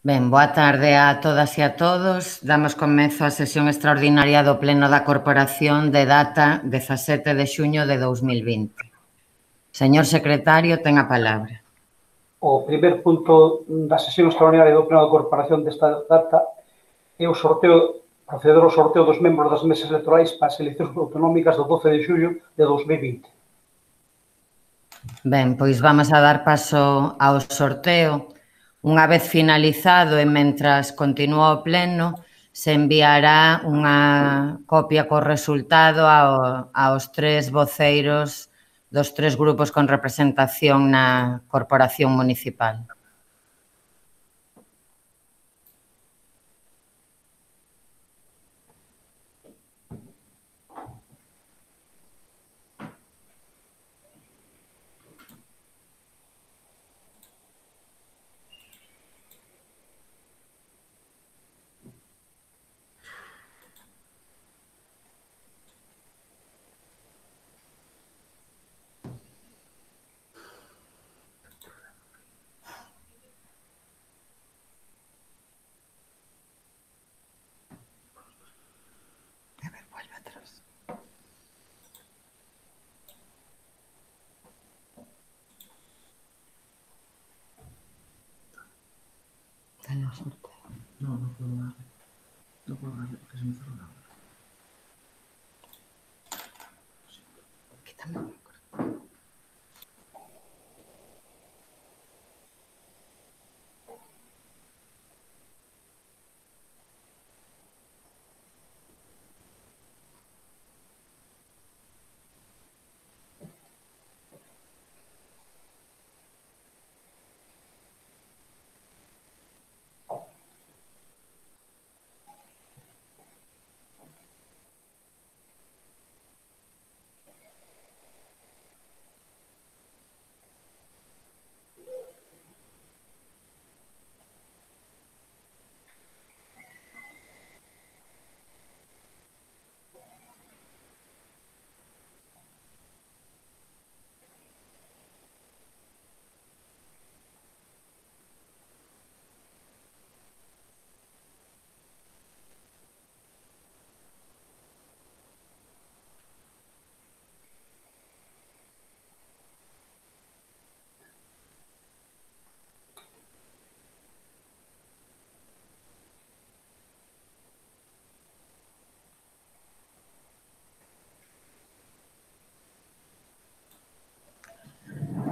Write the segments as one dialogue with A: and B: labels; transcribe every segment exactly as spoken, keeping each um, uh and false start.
A: Ben, boa tarde a todas e a todos. Damos comezo á sesión extraordinaria do Pleno da Corporación de data dezasete de xuño de dous mil vinte. Señor secretario, ten a palabra.
B: O primeiro punto da sesión extraordinaria do Pleno da Corporación desta data é o sorteo, proceder ao sorteo dos membros das mesas electorais para as eleccións autonómicas do doce de xullo de dous mil vinte.
A: Ben, pois vamos a dar paso ao sorteo. Unha vez finalizado e mentras continúa o pleno, se enviará unha copia co resultado ao, aos tres voceiros dos tres grupos con representación na Corporación Municipal.
C: No, no puedo darle. No puedo darle porque se me cerró la hora.
A: Quítame.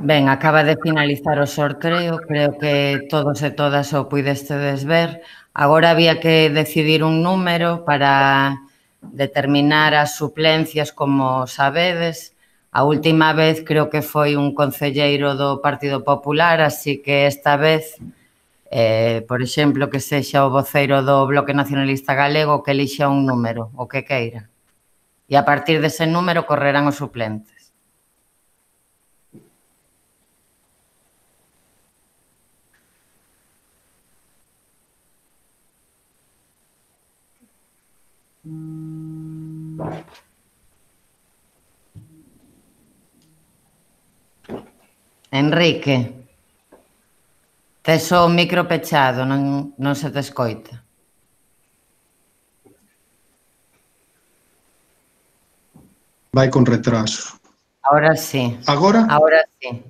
A: Ben, acaba de finalizar o sorteo, creo que todos e todas o puidestedes ver. Agora había que decidir un número para determinar as suplencias, como sabedes. A última vez creo que foi un concelleiro do Partido Popular, así que esta vez, eh, por exemplo, que sexa o voceiro do Bloque Nacionalista Galego que elixa un número, o que queira. E a partir dese número correrán os suplentes. Enrique, tes o micro pechado, non, non se te escoita.
D: Vai con retraso.
A: Ahora sí.
D: Agora?
A: Ahora sí.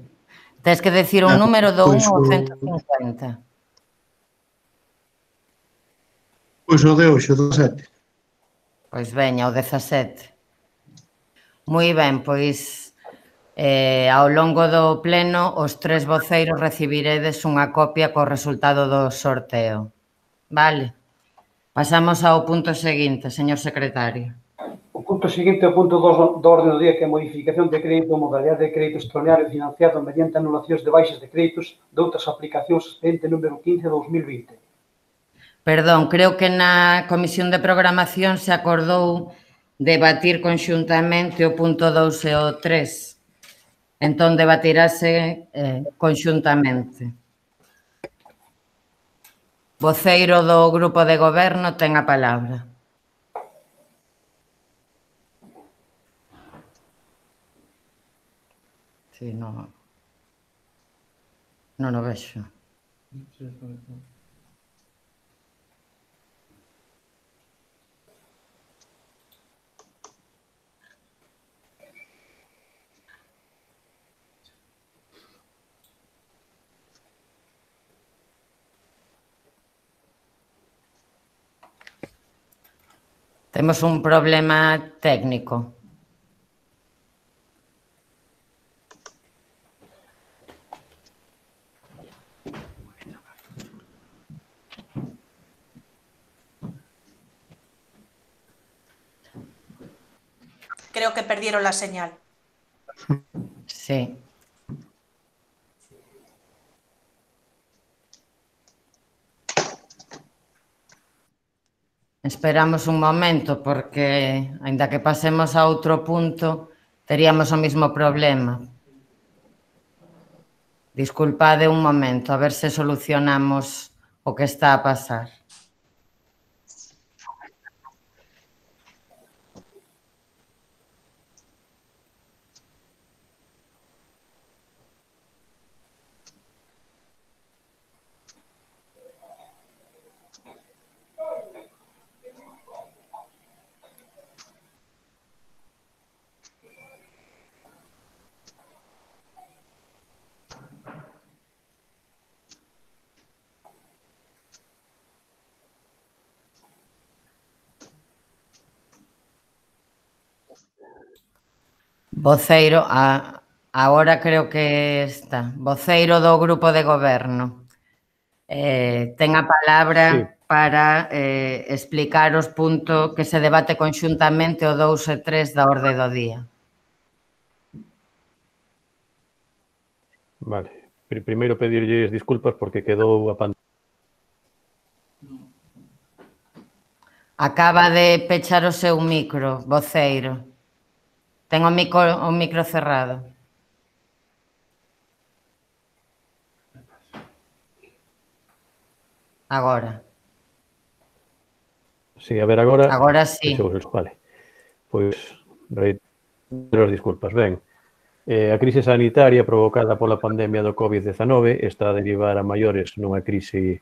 A: Tes que decir un
D: Ah,
A: número do
D: pois
A: un ao
D: o-
A: ciento cincuenta.
D: Pois o de hoxe, o do sete.
A: Pois veña, o dezasete. Moi ben, pois eh, ao longo do pleno os tres voceiros recibiredes unha copia co resultado do sorteo. Vale. Pasamos ao punto seguinte, señor secretario.
B: O punto seguinte é o punto dos do orden do día, que é a modificación de crédito ou modalidade de crédito extraordinario financiado mediante anulacións de baixas de créditos de outras aplicacións, expediente número quince de dous mil vinte.
A: Perdón, creo que na Comisión de Programación se acordou debatir conxuntamente o punto dous e o tres. Entón, debatirase eh, conxuntamente. Voceiro do Grupo de Goberno ten a palabra. Sí, non, non o vexo. Temos un problema técnico.
E: Creo que perdieron la señal.
A: Sí. Esperamos un momento porque, aínda que pasemos a outro punto, teríamos o mismo problema. Disculpade un momento, a ver se solucionamos o que está a pasar. Voceiro, a, agora creo que está. Voceiro do Grupo de Goberno. Eh, ten a palabra sí. para eh, explicar os puntos que se debate conxuntamente o dous e tres da orde do día.
F: Vale. Primeiro pedirlles disculpas porque quedou a pantalla.
A: Acaba de pechar o seu micro, voceiro. Ten o micro, o micro cerrado. Agora.
F: Sí, a ver, agora...
A: Agora sí.
F: Vale. Pois, reitero as disculpas. Ben, eh, a crise sanitaria provocada pola pandemia do COVID diecinueve está a derivar a maiores nunha crise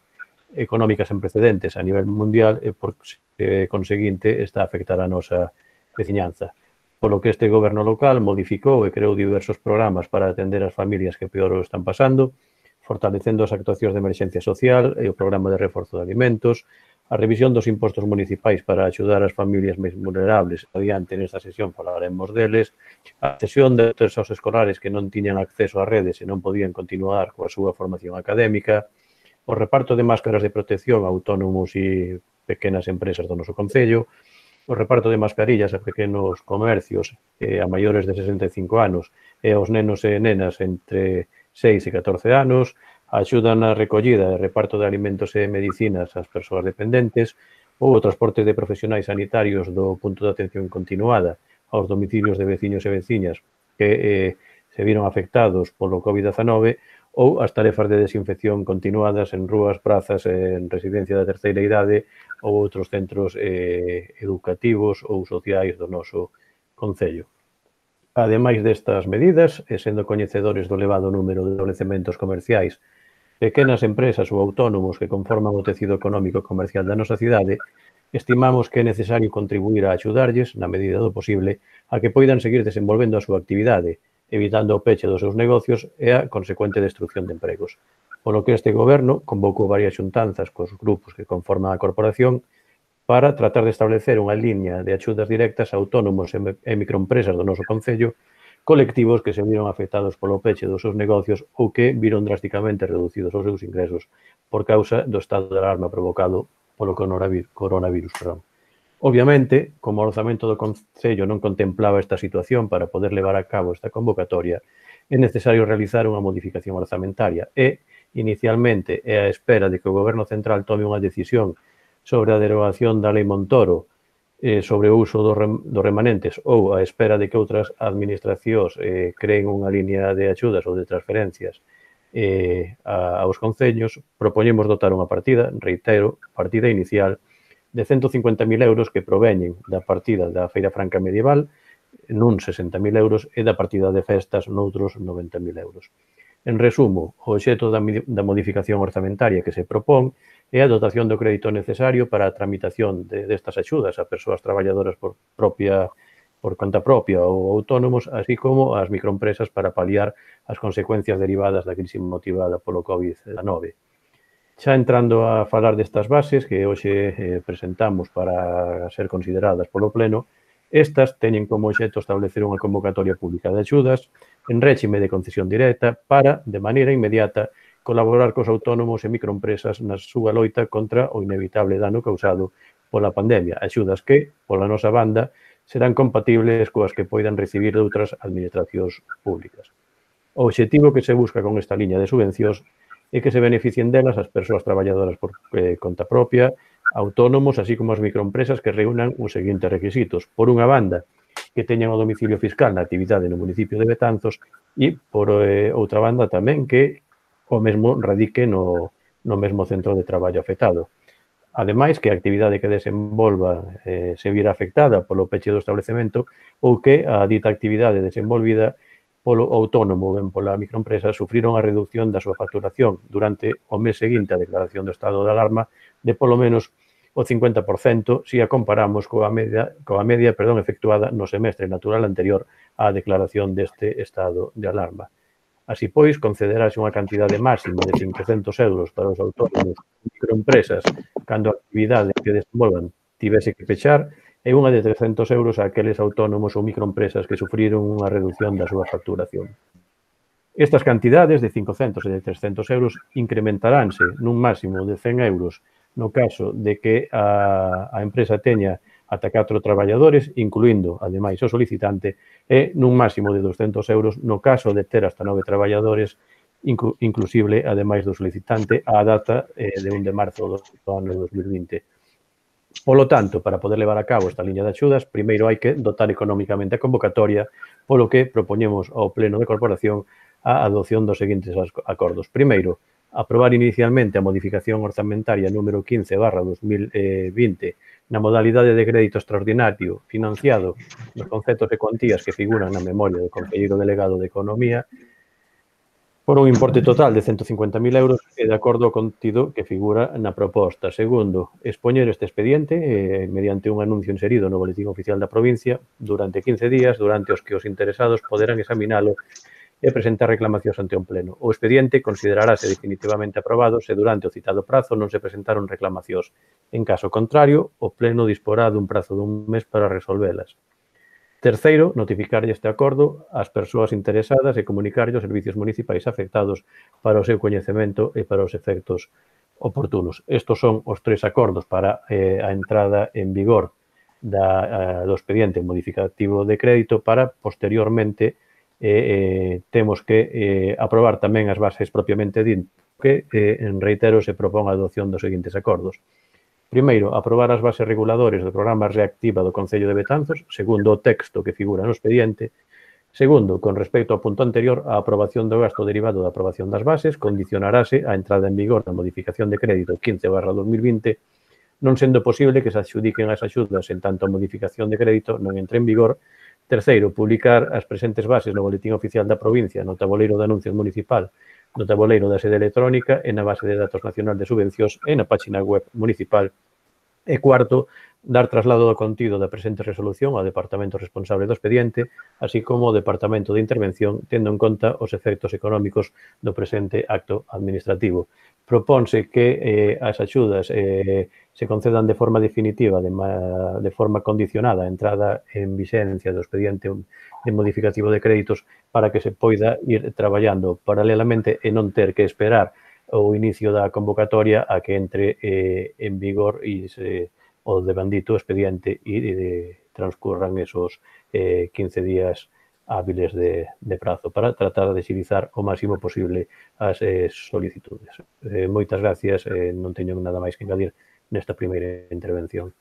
F: económica sen precedentes a nivel mundial e, por eh, conseguinte, está a afectar a nosa veciñanza. Polo que este goberno local modificou e creou diversos programas para atender as familias que peor o están pasando, fortalecendo as actuacións de emerxencia social e o programa de reforzo de alimentos, a revisión dos impostos municipais para axudar as familias máis vulnerables. Adiante, nesta sesión falaremos deles, a cesión de textos escolares que non tiñan acceso a redes e non podían continuar coa súa formación académica, o reparto de máscaras de protección a autónomos e pequenas empresas do noso concello, o reparto de mascarillas a pequenos comercios eh, a maiores de sesenta e cinco anos e aos nenos e nenas entre seis e catorce anos, a axuda na recollida e reparto de alimentos e medicinas ás persoas dependentes ou o transporte de profesionais sanitarios do punto de atención continuada aos domicilios de veciños e veciñas que eh, se viron afectados polo COVID diecinueve ou as tarefas de desinfección continuadas en rúas, prazas, en residencia da terceira idade ou outros centros eh, educativos ou sociais do noso concello. Ademais destas medidas, e sendo coñecedores do elevado número de establecementos comerciais, pequenas empresas ou autónomos que conforman o tecido económico comercial da nosa cidade, estimamos que é necesario contribuir a axudarlles, na medida do posible, a que poidan seguir desenvolvendo a súa actividade, evitando o peche dos seus negocios e a consecuente destrucción de empregos. Polo que este goberno convocou varias xuntanzas cos grupos que conforman a corporación para tratar de establecer unha liña de axudas directas a autónomos e microempresas do noso concello, colectivos que se viron afectados polo peche dos seus negocios ou que viron drásticamente reducidos os seus ingresos por causa do estado de alarma provocado polo coronavirus. Perdón. Obviamente, como o orzamento do Concello non contemplaba esta situación para poder levar a cabo esta convocatoria, é necesario realizar unha modificación orzamentaria e, inicialmente, é a espera de que o Goberno Central tome unha decisión sobre a derogación da Lei Montoro eh, sobre o uso dos do remanentes ou a espera de que outras administracións eh, creen unha línea de axudas ou de transferencias eh, a, aos concellos, propoñemos dotar unha partida, reitero, partida inicial, de cento cincuenta mil euros que proveñen da partida da Feira Franca Medieval, nun sesenta mil euros, e da partida de festas noutros noventa mil euros. En resumo, o obxecto da, da modificación orzamentaria que se propón é a dotación do crédito necesario para a tramitación de, destas axudas a persoas traballadoras por propia por conta propia ou autónomos, así como as microempresas para paliar as consecuencias derivadas da crise motivada polo COVID diecinueve. Xa entrando a falar destas bases que hoxe eh, presentamos para ser consideradas polo Pleno, estas teñen como obxecto establecer unha convocatoria pública de axudas en réxime de concesión directa para, de maneira inmediata, colaborar cos autónomos e microempresas na súa loita contra o inevitable dano causado pola pandemia. Axudas que, pola nosa banda, serán compatibles coas que poidan recibir de outras administracións públicas. O obxectivo que se busca con esta liña de subvencións é que se beneficien delas as persoas traballadoras por eh, conta propia, autónomos, así como as microempresas que reúnan os seguintes requisitos. Por unha banda, que teñan o domicilio fiscal na actividade no municipio de Betanzos e, por eh, outra banda, tamén que o mesmo radique no, no mesmo centro de traballo afectado. Ademais, que a actividade que desenvolva eh, se vira afectada polo peche do establecemento ou que a dita actividade desenvolvida polo autónomo ou ben pola microempresa sufriron a reducción da súa facturación durante o mes seguinte á declaración do estado de alarma de polo menos o cincuenta por cento se a comparamos coa media, coa media perdón, efectuada no semestre natural anterior á declaración deste estado de alarma. Así pois, concederase unha cantidade máxima de cincocentos euros para os autónomos e microempresas cando a actividade que desenvolvan tivese que pechar e unha de trescentos euros a aqueles autónomos ou microempresas que sufriron unha reducción da súa facturación. Estas cantidades de cincocentos e de trescentos euros incrementaránse nun máximo de cen euros no caso de que a, a empresa teña ata catro traballadores, incluindo, ademais, o solicitante, e nun máximo de doscentos euros no caso de ter hasta nove traballadores, inclu, inclusible, ademais do solicitante, á data eh, de un de marzo do ano dos mil vinte. Polo tanto, para poder levar a cabo esta liña de axudas, primeiro hai que dotar económicamente a convocatoria, polo que propoñemos ao Pleno de Corporación a adopción dos seguintes acordos. Primeiro, aprobar inicialmente a modificación orzamentaria número quince barra dos mil vinte na modalidade de crédito extraordinario financiado nos conceptos e cuantías que figuran na memoria do Conselleiro Delegado de Economía por un importe total de cento cincuenta mil euros e de acordo ao contido que figura na proposta. Segundo, expoñer este expediente eh, mediante un anuncio inserido no Boletín Oficial da provincia durante quince días, durante os que os interesados poderán examinalo e presentar reclamacións ante un pleno. O expediente considerarase definitivamente aprobado se durante o citado prazo non se presentaron reclamacións. En caso contrario, o pleno disporá dun prazo dun mes para resolvelas. Terceiro, notificarlle este acordo ás persoas interesadas e comunicarlle aos servicios municipais afectados para o seu coñecemento e para os efectos oportunos. Estos son os tres acordos para eh, a entrada en vigor da, uh, do expediente modificativo de crédito para, posteriormente, eh, eh, temos que eh, aprobar tamén as bases propiamente dito que, eh, en reitero, se propón a adopción dos seguintes acordos. Primeiro, aprobar as bases reguladores do programa Reactiva do Concello de Betanzos, segundo o texto que figura no expediente. Segundo, con respecto ao punto anterior, a aprobación do gasto derivado da aprobación das bases condicionarase a entrada en vigor da modificación de crédito quince barra dos mil vinte, non sendo posible que se adxudiquen as axudas en tanto a modificación de crédito non entre en vigor. Terceiro, publicar as presentes bases no Boletín Oficial da provincia, no tabuleiro de anuncios municipal, no tabuleiro da sede electrónica e na base de datos nacional de subvencións e na página web municipal. E cuarto, dar traslado do contido da presente resolución ao departamento responsable do expediente, así como ao departamento de intervención, tendo en conta os efectos económicos do presente acto administrativo. Propónse que eh, as axudas eh, se concedan de forma definitiva, de, ma, de forma condicionada a entrada en vixencia do expediente de modificativo de créditos para que se poida ir traballando paralelamente e non ter que esperar o inicio da convocatoria a que entre eh, en vigor e se, o devandito expediente e de, transcurran esos eh, quince días hábiles de, de prazo para tratar de agilizar o máximo posible as eh, solicitudes. Eh, moitas gracias, eh, non teño nada máis que engadir nesta primeira intervención.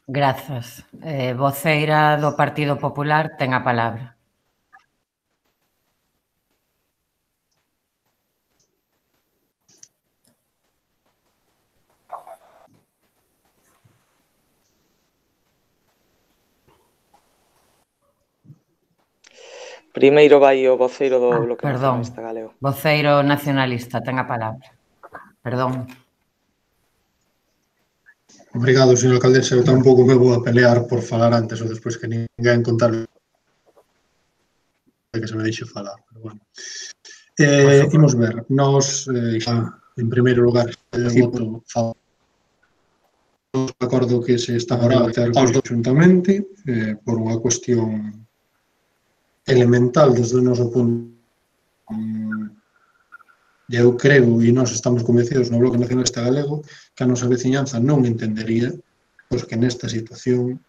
A: Grazas. Eh, voceira do Partido Popular ten a palabra.
G: Primeiro vai o voceiro do
A: Ah,
G: Bloque
A: perdón.
G: Nacionalista Galego.
A: Voceiro nacionalista, ten a palabra. Perdón.
D: Obrigado, señor alcaldesa. Eu tampouco me vou a pelear por falar antes ou despois que ninguén contar que se me deixe falar. Pero bueno. Eh, imos ver, nós, eh, xa, en primeiro lugar, o voto favorable de acordo que se está agora a ter aos do xuntamente, eh, por unha cuestión elemental desde o noso punto. Eu creo, e nós estamos convencidos no Bloque Nacionalista Galego, que a nosa veciñanza non entendería pois, que nesta situación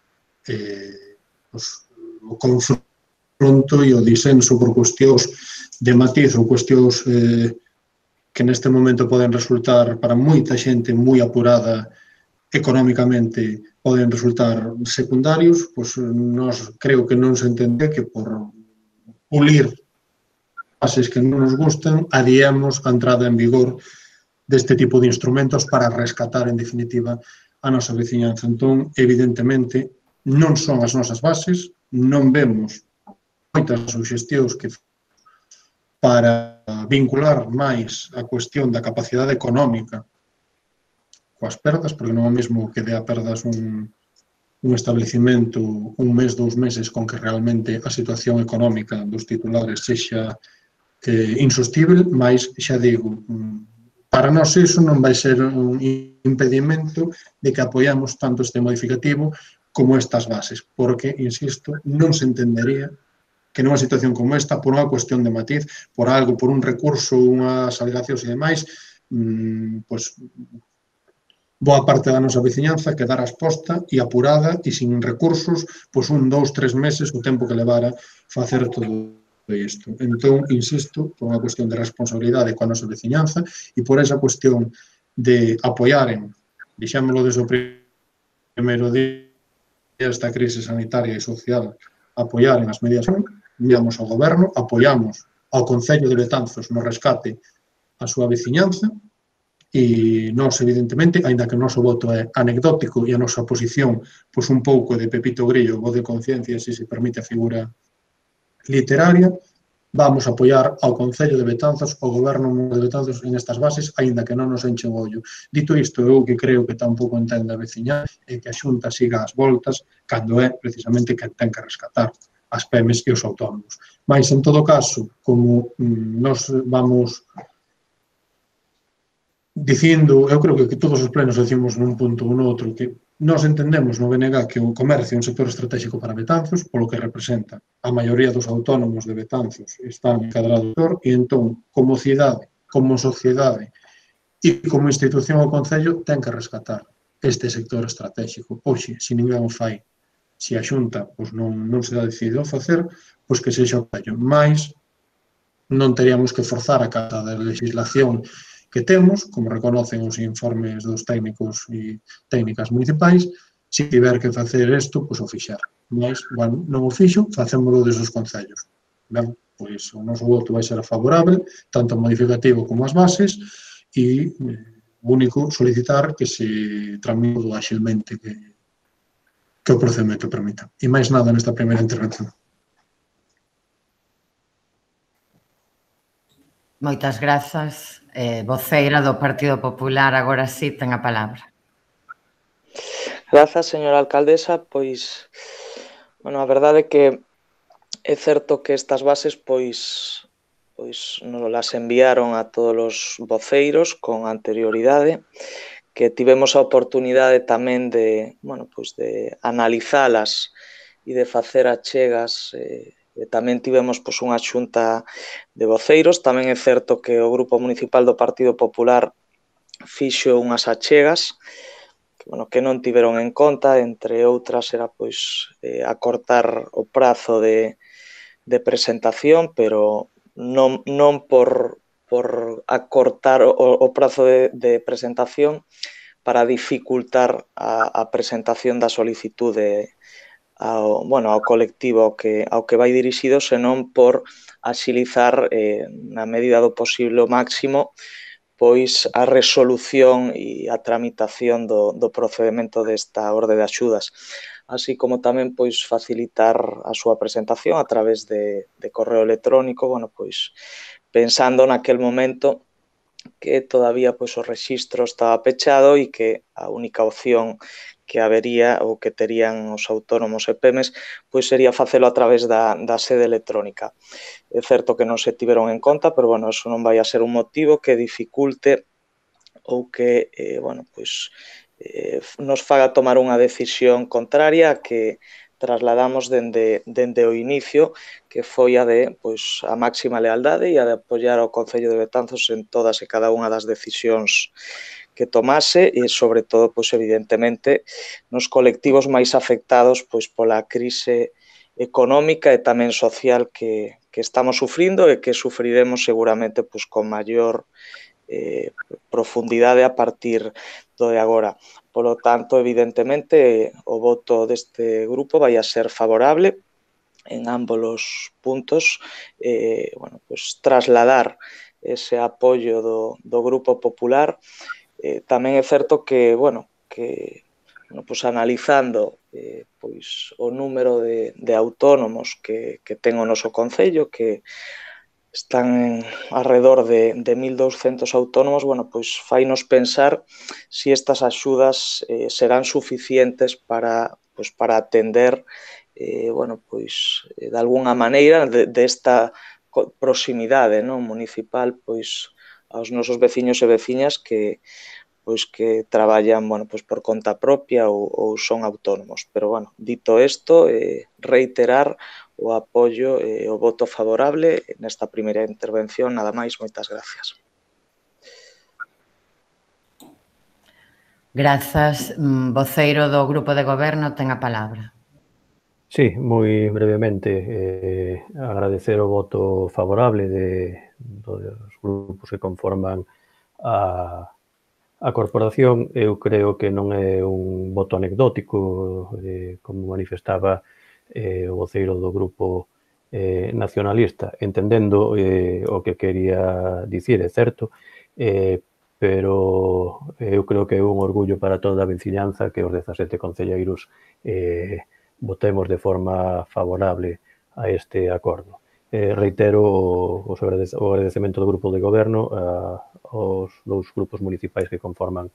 D: eh, pois, o confronto e o disenso por cuestións de matiz ou cuestións eh, que neste momento poden resultar para moita xente moi apurada económicamente poden resultar secundarios, pois nós creo que non se entende que por pulir bases que non nos gustan, adiemos a entrada en vigor deste tipo de instrumentos para rescatar, en definitiva, a nosa veciñanza. Entón, evidentemente, non son as nosas bases, non vemos moitas suxestións que para vincular máis a cuestión da capacidade económica coas perdas, porque non é o mesmo que dea perdas un, un establecimento un mes, dous meses, con que realmente a situación económica dos titulares sexa eh, insostible, mas xa digo, para nós iso non vai ser un impedimento de que apoiamos tanto este modificativo como estas bases, porque, insisto, non se entendería que nunha situación como esta, por unha cuestión de matiz, por algo, por un recurso, unhas alegacións e demais, mmm, pois, boa parte da nosa veciñanza quedara exposta e apurada e sin recursos, pois un, dous, tres meses o tempo que levara facer todo isto. Entón, insisto, por unha cuestión de responsabilidade coa nosa veciñanza e por esa cuestión de apoiaren, dixémolo desde o primeiro día esta crise sanitaria e social, apoiaren as medidas, enviamos ao goberno, apoiamos ao Concello de Betanzos no rescate a súa veciñanza e nós, evidentemente, aínda que o noso voto é anecdótico e a nosa posición, pois un pouco de Pepito Grillo, voz de conciencia, se se permite a figura literaria, vamos a apoiar ao Concello de Betanzos, ao Goberno de Betanzos en estas bases, aínda que non nos enche o ollo. Dito isto, eu que creo que tampouco entende a veciña é que a Xunta siga as voltas cando é precisamente quen ten que rescatar as P E M es e os autónomos. Mais, en todo caso, como mm, nos vamos dicindo, eu creo que, que todos os plenos decimos nun punto ou no outro, que nós entendemos no B N G que o comercio é un sector estratégico para Betanzos, polo que representa a maioría dos autónomos de Betanzos están encadrados e entón, como cidade, como sociedade e como institución ao Concello, ten que rescatar este sector estratégico. Oxe, se ninguén o fai, se a Xunta pois, non, non se dá decidido a facer, pois que sexa o Concello. Mais non teríamos que forzar a casa da legislación que temos, como reconocen os informes dos técnicos e técnicas municipais, se tiver que facer isto, pois o fixar. Mas, bueno, non o fixo, facémolo desos concellos. Ben, pois o noso voto vai ser favorable, tanto o modificativo como as bases, e o único solicitar que se tramite todo axilmente que, que o procedimento permita. E máis nada nesta primeira intervención.
A: Moitas grazas. Eh, voceira do Partido Popular, agora sí, ten a palabra.
G: Grazas, señora alcaldesa. Pois, bueno, a verdade é que é certo que estas bases, pois, pois nos las enviaron a todos os voceiros con anterioridade, que tivemos a oportunidade tamén de, bueno, pois de analizalas e de facer achegas. Eh, E tamén tivemos pois, unha xunta de voceiros. Tamén é certo que o Grupo Municipal do Partido Popular fixo unhas achegas que, bueno, que non tiveron en conta, entre outras era pois, eh, acortar o prazo de, de presentación, pero non, non por, por acortar o, o prazo de, de presentación para dificultar a, a presentación da solicitude ao, bueno, ao colectivo ao que, ao que vai dirixido, senón por axilizar eh, na medida do posible o máximo pois a resolución e a tramitación do, do procedimento desta orde de axudas, así como tamén pois facilitar a súa presentación a través de, de correo electrónico, bueno, pois pensando naquel momento que todavía pois, o rexistro estaba pechado e que a única opción que habería ou que terían os autónomos e pemes pois sería facelo a través da, da sede electrónica. É certo que non se tiveron en conta, pero bueno, eso non vai a ser un motivo que dificulte ou que eh, bueno, pois, eh, nos faga tomar unha decisión contraria que trasladamos dende, dende o inicio, que foi a de pois, a máxima lealdade e a de apoiar ao Concello de Betanzos en todas e cada unha das decisións que tomase e, sobre todo, pois, evidentemente, nos colectivos máis afectados pois, pola crise económica e tamén social que, que estamos sufrindo e que sufriremos seguramente pois, con maior eh, profundidade a partir do de agora. Polo tanto, evidentemente, o voto deste grupo vai a ser favorable en ambos os puntos, eh, bueno, pues, trasladar ese apoio do, do Grupo Popular. Eh, tamén é certo que, bueno, que bueno, pues, analizando eh, pois, o número de, de autónomos que, que ten o noso Concello, que están alrededor de, de mil douscentos autónomos, bueno, pois fainos pensar se si estas axudas eh, serán suficientes para, pois, para atender eh, bueno, pois, de alguna maneira desta de proximidade, non, municipal pois, aos nosos veciños e veciñas que pois que traballan, bueno, pois por conta propia ou, ou son autónomos. Pero, bueno, dito isto, eh, reiterar o apoio e eh, o voto favorable nesta primeira intervención. Nada máis, moitas gracias.
A: Grazas. Voceiro do Grupo de Goberno ten a palabra.
F: Sí, moi brevemente, eh, agradecer o voto favorable de, dos grupos que conforman a A corporación. Eu creo que non é un voto anecdótico, eh, como manifestaba eh, o voceiro do grupo eh, nacionalista, entendendo eh, o que quería dicir, é certo, eh, pero eu creo que é un orgullo para toda a veciñanza que os dezasete concelleiros eh, votemos de forma favorable a este acordo. Eh, reitero o, o agradecemento do Grupo de Goberno a, aos dous grupos municipais que conforman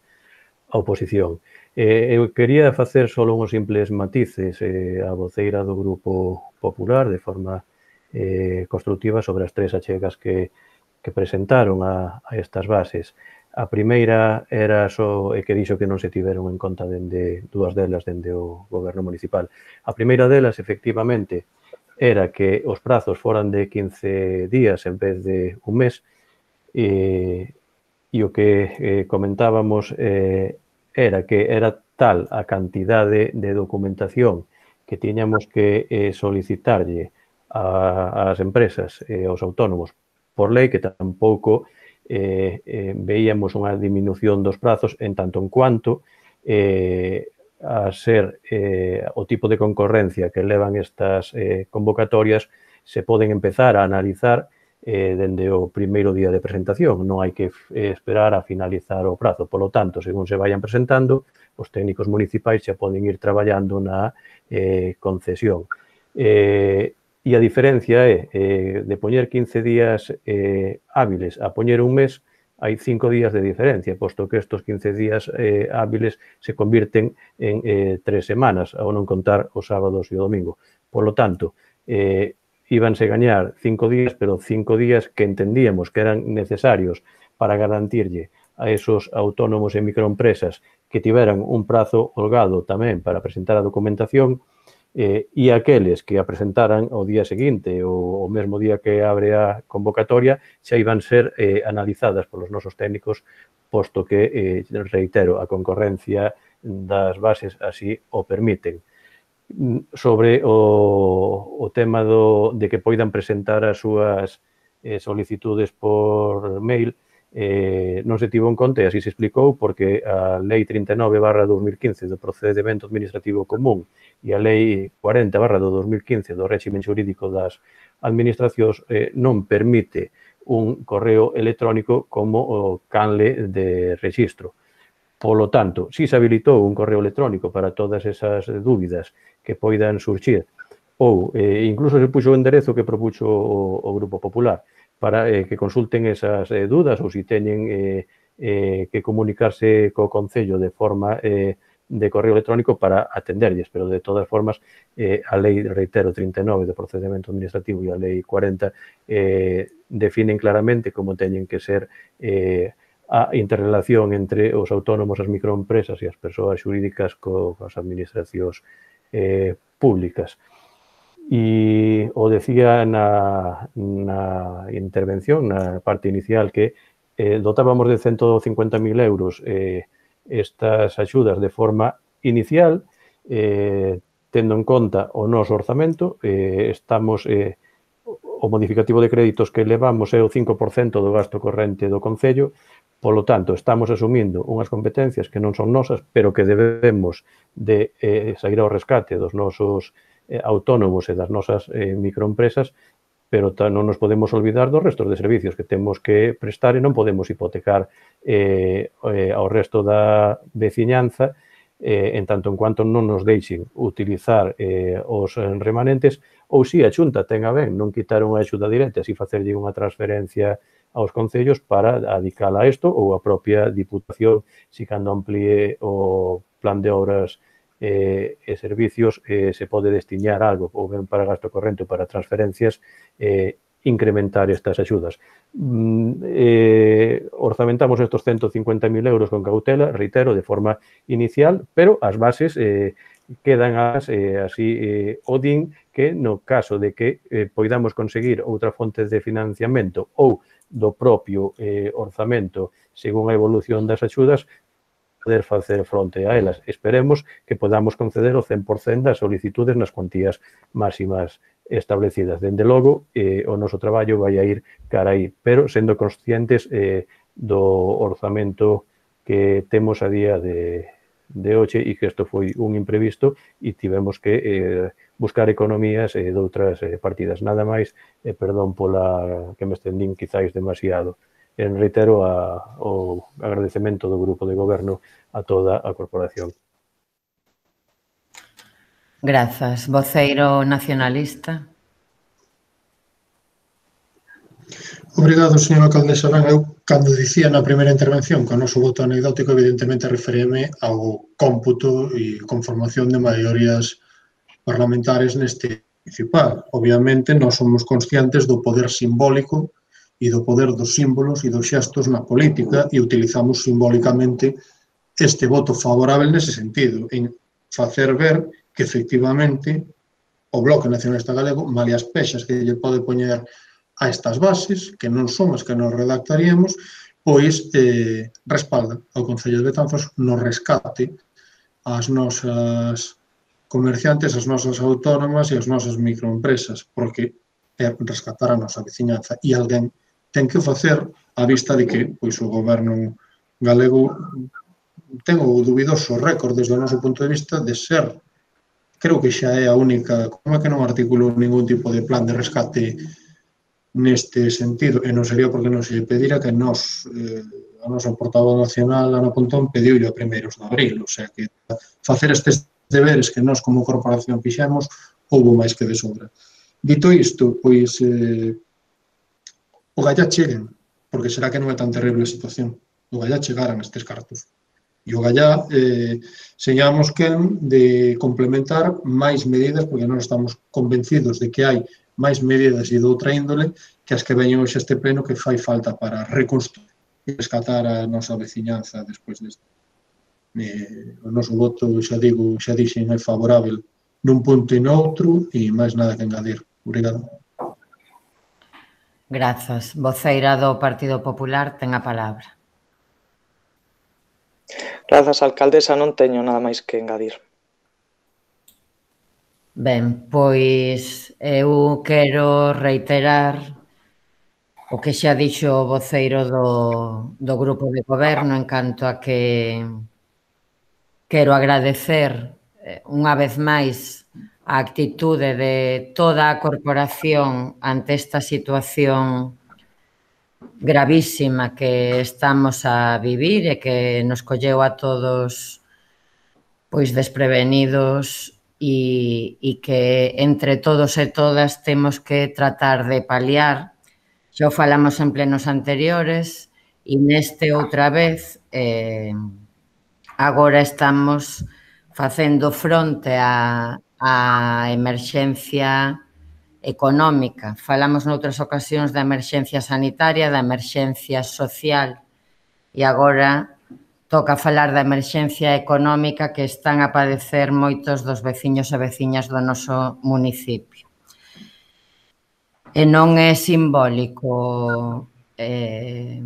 F: a oposición. Eh, eu quería facer só uns simples matices eh, a voceira do Grupo Popular de forma eh, constructiva sobre as tres achegas que, que presentaron a, a estas bases. A primeira era só e que dixo que non se tiveron en conta dende dúas delas dende o Goberno municipal. A primeira delas, efectivamente, era que os prazos foran de quince días en vez de un mes e, e o que eh, comentábamos eh, era que era tal a cantidade de documentación que tiñamos que eh, solicitarlle a, ás empresas e eh, aos autónomos por lei que tampouco eh, eh, veíamos unha disminución dos prazos en tanto en cuanto eh, a ser eh, o tipo de concorrencia que levan estas eh, convocatorias se poden empezar a analizar eh, dende o primeiro día de presentación. Non hai que eh, esperar a finalizar o prazo. Por lo tanto, según se vayan presentando, os técnicos municipais xa poden ir traballando na eh, concesión. Eh, e a diferencia é eh, de poñer quince días eh, hábiles a poñer un mes, hai cinco días de diferencia, posto que estos quince días eh, hábiles se convirten en eh, tres semanas, ao non contar os sábados e o domingo. Por lo tanto, eh, íbanse gañar cinco días, pero cinco días que entendíamos que eran necesarios para garantirlle a esos autónomos e microempresas que tiveran un prazo holgado tamén para presentar a documentación eh, e aqueles que a presentaran o día seguinte ou o mesmo día que abre a convocatoria xa iban ser eh, analizadas polos nosos técnicos, posto que, eh, reitero, a concorrencia das bases así o permiten. Sobre o, o tema do, de que poidan presentar as súas eh, solicitudes por mail, eh, non se tivo en conta, e así se explicou, porque a Lei trinta e nove barra dos mil quince do Procedimento Administrativo Común e a Lei cuarenta barra do dos mil quince do Réximen Xurídico das Administracións eh, non permite un correo electrónico como o canle de rexistro. Polo tanto, si se habilitou un correo electrónico para todas esas dúbidas que poidan surxir, ou eh, incluso se puxo o enderezo que propuxo o, o Grupo Popular, para eh, que consulten esas eh, dudas ou se teñen eh, eh, que comunicarse co Concello de forma eh, de correo electrónico para atenderlles, pero de todas formas eh, a lei, reitero, trinta e nove de procedimento administrativo e a lei cuarenta eh, definen claramente como teñen que ser eh, a interrelación entre os autónomos, as microempresas e as persoas xurídicas co, coas administracións eh, públicas. E o decía na, na intervención, na parte inicial, que eh, dotábamos de ciento cincuenta mil euros eh, estas axudas de forma inicial, eh, tendo en conta o noso orzamento, eh, estamos, eh, o modificativo de créditos que levamos é o cinco por cento do gasto corrente do Concello, polo tanto, estamos asumindo unhas competencias que non son nosas, pero que debemos de eh, sair ao rescate dos nosos eh, autónomos e das nosas eh, microempresas, pero non nos podemos olvidar dos restos de servicios que temos que prestar e non podemos hipotecar eh, eh, ao resto da veciñanza eh, en tanto en cuanto non nos deixen utilizar eh, os remanentes ou si a Xunta ten a ben non quitar unha axuda directa, si facerlle unha transferencia aos concellos para adicala a isto ou a propia Diputación, si cando amplíe o plan de obras eh, e servicios eh, se pode destiñar algo ou ben para gasto corrente ou para transferencias, eh, incrementar estas axudas. Mm, eh, orzamentamos estos ciento cincuenta mil euros con cautela, reitero, de forma inicial, pero as bases eh, quedan as, eh, así eh, o din que no caso de que eh, poidamos conseguir outra fonte de financiamento ou do propio eh, orzamento según a evolución das axudas, poder facer fronte a elas. Esperemos que podamos conceder o cen por cento das solicitudes nas cuantías máximas establecidas. Dende logo, eh, o noso traballo vai a ir cara aí, pero sendo conscientes eh, do orzamento que temos a día de, de hoxe e que isto foi un imprevisto e tivemos que eh, buscar economías eh, de outras eh, partidas. Nada máis, eh, perdón pola que me estendín quizáis demasiado. En reitero a, o agradecemento do Grupo de Goberno a toda a corporación.
A: Grazas. Voceiro nacionalista.
D: Obrigado, señora alcaldesa. Ben, eu, cando dicía na primeira intervención que o noso voto anecdótico, evidentemente referíame ao cómputo e conformación de maiorías parlamentarias neste municipal. Obviamente, nós somos conscientes do poder simbólico e do poder dos símbolos e dos xestos na política e utilizamos simbólicamente este voto favorable nese sentido, en facer ver que, efectivamente, o Bloque Nacionalista Galego, malia as pexas que lle pode poñer a estas bases, que non son as que nos redactaríamos, pois eh, respalda ao Concello de Betanzos no rescate ás nosas comerciantes, as nosas autónomas e as nosas microempresas, porque é rescatar a nosa veciñanza e alguén ten que facer a vista de que pois, o goberno galego ten o dubidoso récord desde o noso punto de vista de ser, creo que xa é a única, como é que non articulou ningún tipo de plan de rescate neste sentido, e non sería porque non se pedira que nos, eh, a nosa portavoz nacional, Ana Pontón, pediu a primeiros de abril, o sea que facer estes deberes que nós como corporación fixemos, houbo máis que de sobra. Dito isto, pois, eh, o Gallá cheguen, porque será que non é tan terrible a situación. O Gallá chegaran estes cartos. E o Gallá eh, señamos que de complementar máis medidas, porque nós estamos convencidos de que hai máis medidas e de outra índole que as que veñen hoxe este pleno que fai falta para reconstruir e rescatar a nosa veciñanza despois deste. Eh, o noso voto, xa digo, xa dixen, é favorável nun punto e noutro e máis nada que engadir. Obrigado.
A: Grazas. Voceira do Partido Popular ten a palabra.
G: Grazas, alcaldesa, non teño nada máis que engadir.
A: Ben, pois eu quero reiterar o que xa dixo o voceiro do, do Grupo de Goberno en canto a que quero agradecer unha vez máis a actitude de toda a corporación ante esta situación gravísima que estamos a vivir e que nos colleu a todos pois desprevenidos e, e que entre todos e todas temos que tratar de paliar Xa o falamos en plenos anteriores e neste outra vez eh, agora estamos facendo fronte á, á emerxencia económica. Falamos noutras ocasións da emerxencia sanitaria, da emerxencia social e agora toca falar da emerxencia económica que están a padecer moitos dos veciños e veciñas do noso municipio. E non é simbólico eh,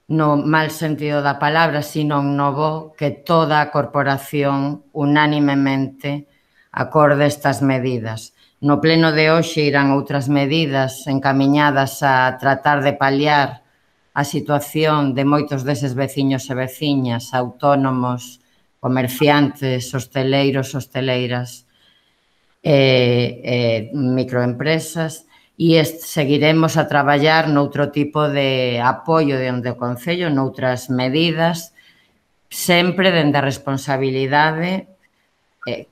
A: no mal sentido da palabra, sino no bo que toda a corporación unánimemente acorde estas medidas. No pleno de hoxe irán outras medidas encamiñadas a tratar de paliar a situación de moitos deses veciños e veciñas, autónomos, comerciantes, hosteleiros, hosteleiras e, e microempresas, e seguiremos a traballar noutro tipo de apoio dende o Concello, noutras medidas, sempre dende a responsabilidade eh,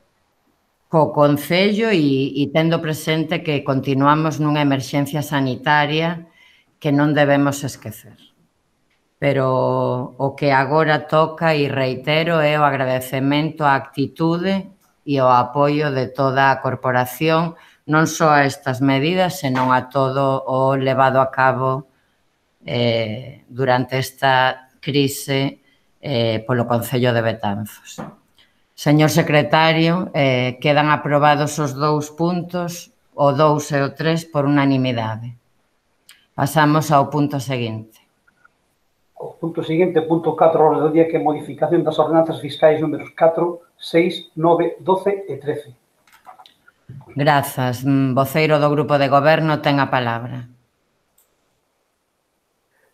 A: co Concello e, e tendo presente que continuamos nunha emerxencia sanitaria que non debemos esquecer. Pero o que agora toca, e reitero, é o agradecemento á actitude e ao apoio de toda a corporación, non só a estas medidas, senón a todo o levado a cabo eh, durante esta crise eh, polo Concello de Betanzos. Señor secretario, eh, quedan aprobados os dous puntos, o dous e o tres, por unanimidade. Pasamos ao punto seguinte.
B: O punto seguinte, punto catro, orde do día, que é modificación das ordenanzas fiscais números catro, seis, nove, doce e trece.
A: Grazas. Voceiro do Grupo de Goberno ten a palabra.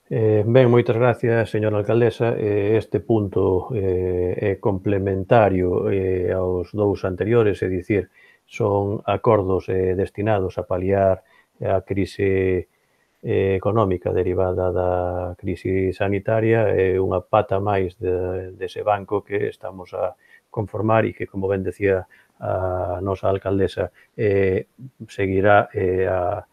F: Eh, ben, moitas gracias, señora alcaldesa. Eh, este punto eh, é complementario eh, aos dous anteriores, é dicir, son acordos eh, destinados a paliar a crise eh, económica derivada da crise sanitaria, é unha pata máis de, dese banco que estamos a conformar e que, como ben decía a nosa alcaldesa, eh, seguirá eh, a,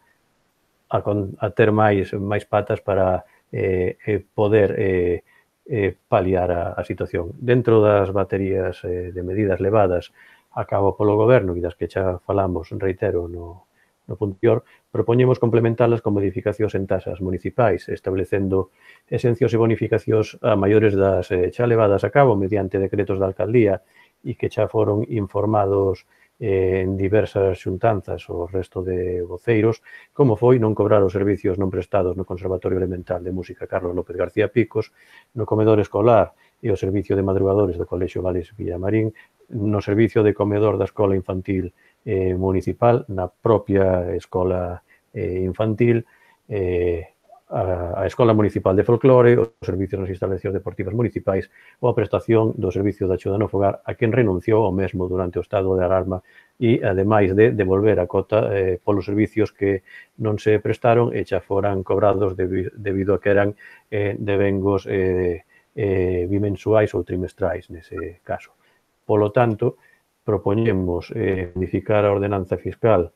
F: a, a ter máis, máis patas para eh, eh, poder eh, eh, paliar a, a situación. Dentro das baterías eh, de medidas levadas a cabo polo Goberno e das que xa falamos, reitero, no, no punto anterior, propoñemos complementalas con modificacións en tasas municipais, establecendo exencións e bonificacións a maiores das eh, xa levadas a cabo mediante decretos da alcaldía e que xa foron informados eh, en diversas xuntanzas o resto de voceiros, como foi non cobrar os servicios non prestados no Conservatorio Elemental de Música Carlos López García Picos, no comedor escolar e o servicio de madrugadores do Colexio Vales Villamarín, no servicio de comedor da Escola Infantil eh, Municipal, na propia Escola eh, Infantil, eh, a, a Escola Municipal de Folclore, os servicios nas instalacións deportivas municipais ou a prestación do servicio de axuda no fogar a quen renunciou ao mesmo durante o estado de alarma e, ademais de devolver a cota eh, polos servicios que non se prestaron e xa foran cobrados debi, debido a que eran eh, devengos eh, eh, bimensuais ou trimestrais nese caso. Polo tanto, propoñemos eh, modificar a ordenanza fiscal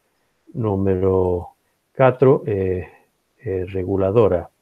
F: número catro, eh, eh, reguladora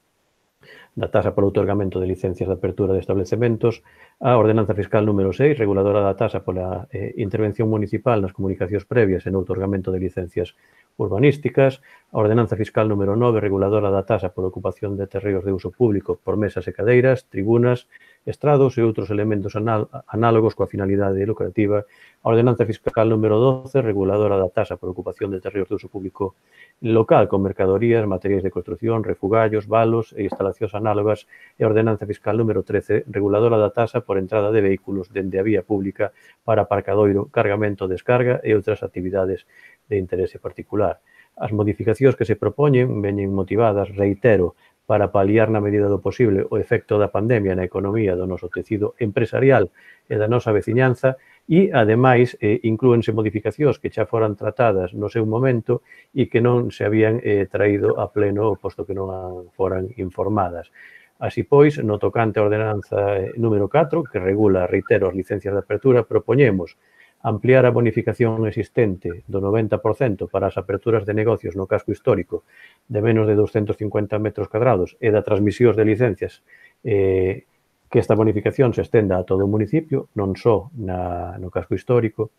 F: da tasa polo outorgamento de licencias de apertura de establecementos, a ordenanza fiscal número seis, reguladora da tasa pola eh, intervención municipal nas comunicacións previas e no outorgamento de licencias urbanísticas, a ordenanza fiscal número nove, reguladora da tasa por ocupación de terreos de uso público por mesas e cadeiras, tribunas, estrados e outros elementos análogos coa finalidade lucrativa, a ordenanza fiscal número doce, reguladora da tasa por ocupación de terreos de uso público local con mercadorías, materiais de construcción, refugallos, valos e instalacións análogas, e a ordenanza fiscal número trece, reguladora da tasa por entrada de vehículos dende a vía pública para aparcadoiro, cargamento, descarga e outras actividades de interese particular. As modificacións que se propoñen veñen motivadas, reitero, para paliar na medida do posible o efecto da pandemia na economía do noso tecido empresarial e da nosa veciñanza e, ademais, eh, inclúense modificacións que xa foran tratadas no seu momento e que non se habían eh, traído a pleno, posto que non foran informadas. Así pois, no tocante a ordenanza número catro, que regula, reitero, as licencias de apertura, propoñemos ampliar a bonificación existente do noventa por cento para as aperturas de negocios no casco histórico de menos de doscientos cincuenta metros cadrados e da transmisións de licencias eh, que esta bonificación se estenda a todo o municipio, non só na, no casco histórico.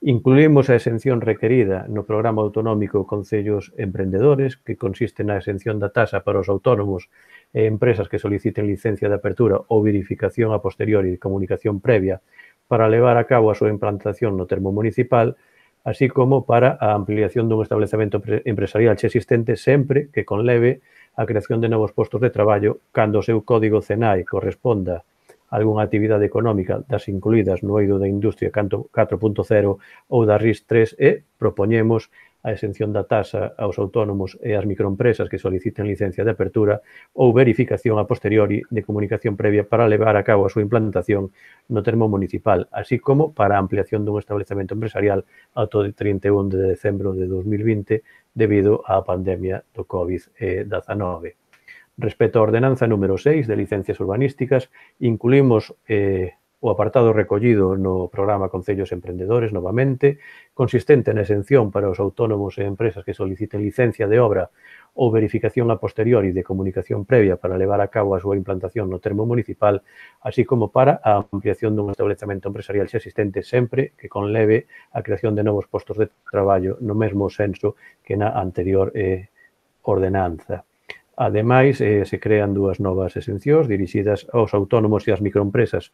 F: Incluímos a exención requerida no programa autonómico Concellos Emprendedores, que consiste na exención da tasa para os autónomos e empresas que soliciten licencia de apertura ou verificación a posteriori de comunicación previa para levar a cabo a súa implantación no termo municipal, así como para a ampliación dun establecemento empresarial xa existente sempre que conleve a creación de novos postos de traballo cando o seu código C N A E corresponda a algunha actividade económica das incluídas no eido da Industria catro punto cero ou da R I S tres e propoñemos a exención da tasa aos autónomos e ás microempresas que soliciten licencia de apertura ou verificación a posteriori de comunicación previa para levar a cabo a súa implantación no termo municipal, así como para a ampliación dun establecemento empresarial ata o trinta e un de decembro de dos mil vinte debido á pandemia do COVID dezanove. Respecto á ordenanza número seis de licencias urbanísticas, incluímos eh, o apartado recollido no programa Concellos Emprendedores, novamente, consistente na exención para os autónomos e empresas que soliciten licencia de obra ou verificación a posteriori de comunicación previa para levar a cabo a súa implantación no termo municipal, así como para a ampliación dun establecemento empresarial xa existente sempre que conleve a creación de novos postos de traballo no mesmo senso que na anterior eh, ordenanza. Ademais, eh, se crean dúas novas exencións dirixidas aos autónomos e ás microempresas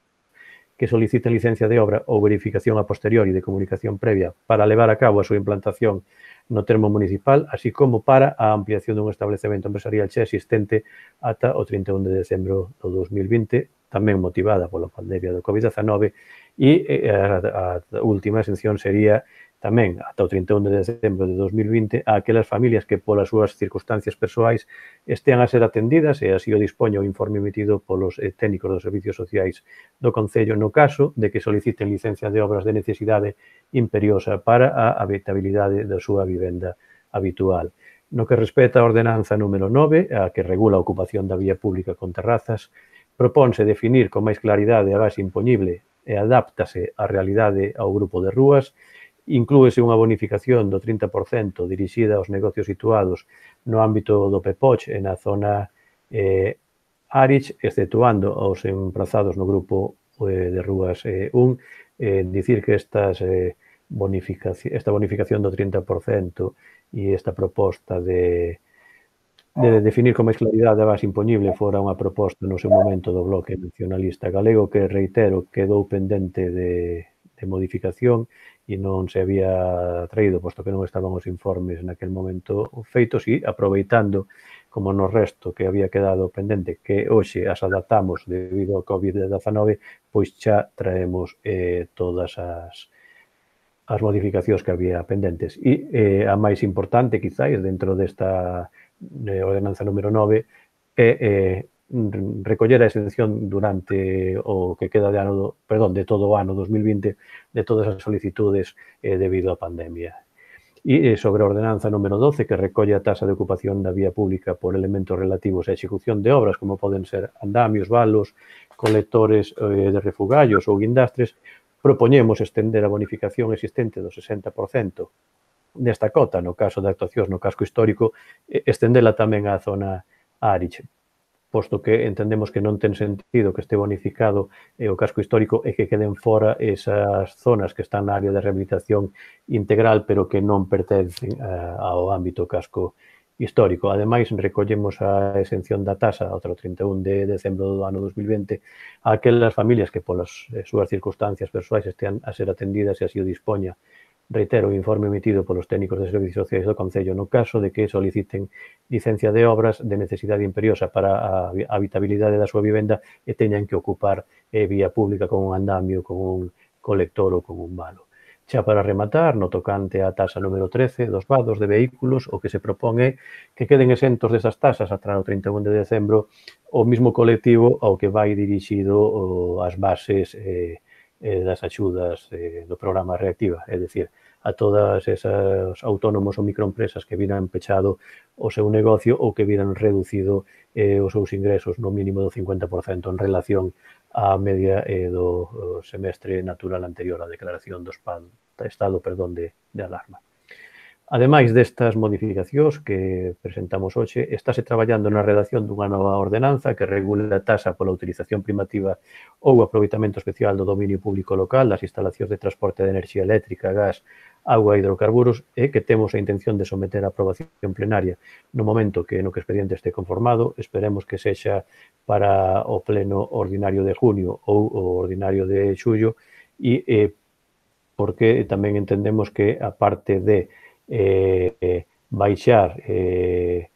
F: que soliciten licencia de obra ou verificación a posteriori de comunicación previa para levar a cabo a súa implantación no termo municipal, así como para a ampliación dun establecemento empresarial xa existente ata o trinta e un de decembro do dos mil vinte, tamén motivada pola pandemia do COVID dezanove, e a, a última exención sería tamén ata o trinta e un de decembro de dos mil vinte a aquelas familias que polas súas circunstancias persoais estean a ser atendidas e así o dispoño o informe emitido polos eh, técnicos dos servicios sociais do Concello no caso de que soliciten licencia de obras de necesidade imperiosa para a habitabilidade da súa vivenda habitual. No que respecta a ordenanza número nove, a que regula a ocupación da vía pública con terrazas, propónse definir con máis claridade a base impoñible e adáptase á realidade ao grupo de rúas. Inclúese unha bonificación do trinta por cento dirixida aos negocios situados no ámbito do Pepoch e na zona eh, Arich, exceptuando aos emprazados no grupo eh, de rúas eh, un, eh, dicir que estas, eh, bonificación, esta bonificación do trinta por cento e esta proposta de, de definir con máis claridade a base impoñible fora unha proposta no seu momento do Bloque Nacionalista Galego que, reitero, quedou pendente de, de modificación e non se había traído, posto que non estaban os informes naquel momento feitos e aproveitando, como no resto que había quedado pendente, que hoxe as adaptamos debido ao COVID dezanove, pois xa traemos eh, todas as, as modificacións que había pendentes. E eh, a máis importante, quizáis, dentro desta eh, ordenanza número nove, é eh, recoller a exención durante o que queda de ano, perdón, de todo o ano dos mil vinte de todas as solicitudes eh, debido á pandemia. E eh, sobre a ordenanza número doce, que recolle a tasa de ocupación da vía pública por elementos relativos á execución de obras, como poden ser andamios, valos, colectores eh, de refugallos ou guindastres, propoñemos estender a bonificación existente do sesenta por cento desta cota, no caso de actuacións no casco histórico, estendela tamén á zona Arich, posto que entendemos que non ten sentido que este bonificado eh, o casco histórico e que queden fora esas zonas que están na área de rehabilitación integral, pero que non pertencen eh, ao ámbito casco histórico. Ademais, recollemos a exención da tasa ao trinta e un de decembro do ano dos mil vinte a aquelas familias que polas eh, súas circunstancias persoais estean a ser atendidas e así o dispoña. Reitero, o informe emitido polos técnicos de servicios sociais do Concello no caso de que soliciten licencia de obras de necesidade imperiosa para a habitabilidade da súa vivenda e teñan que ocupar eh, vía pública con un andamio, con un colector ou con un valo. Xa para rematar, no tocante á tasa número trece dos vados de vehículos, o que se propón é que queden exentos desas tasas ata o trinta e un de decembro o mismo colectivo ao que vai dirixido as bases eh, eh, das axudas eh, do programa Reactiva, é dicir, a todas esas autónomos ou microempresas que viran pechado o seu negocio ou que viran reducido eh, os seus ingresos no mínimo do cincuenta por cento en relación a media eh, do semestre natural anterior á declaración do estado perdón, de, de alarma. Ademais destas modificacións que presentamos hoxe, estáse traballando na redacción dunha nova ordenanza que regule a taxa pola utilización primativa ou aproveitamento especial do dominio público local das instalacións de transporte de enerxía eléctrica, gas, agua e hidrocarburos e que temos a intención de someter a aprobación plenaria no momento que no que o expediente este conformado, esperemos que sexa para o pleno ordinario de junio ou o ordinario de xullo e eh, porque tamén entendemos que a parte de Eh, eh, baixar eh,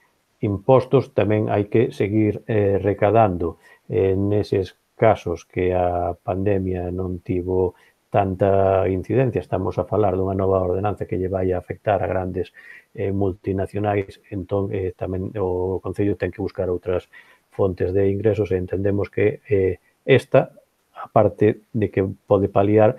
F: impostos, tamén hai que seguir eh, recadando eh, neses casos que a pandemia non tivo tanta incidencia. Estamos a falar dunha nova ordenanza que lle vai a afectar a grandes eh, multinacionais, entón eh, tamén o Concello ten que buscar outras fontes de ingresos e entendemos que eh, esta, a parte de que pode paliar,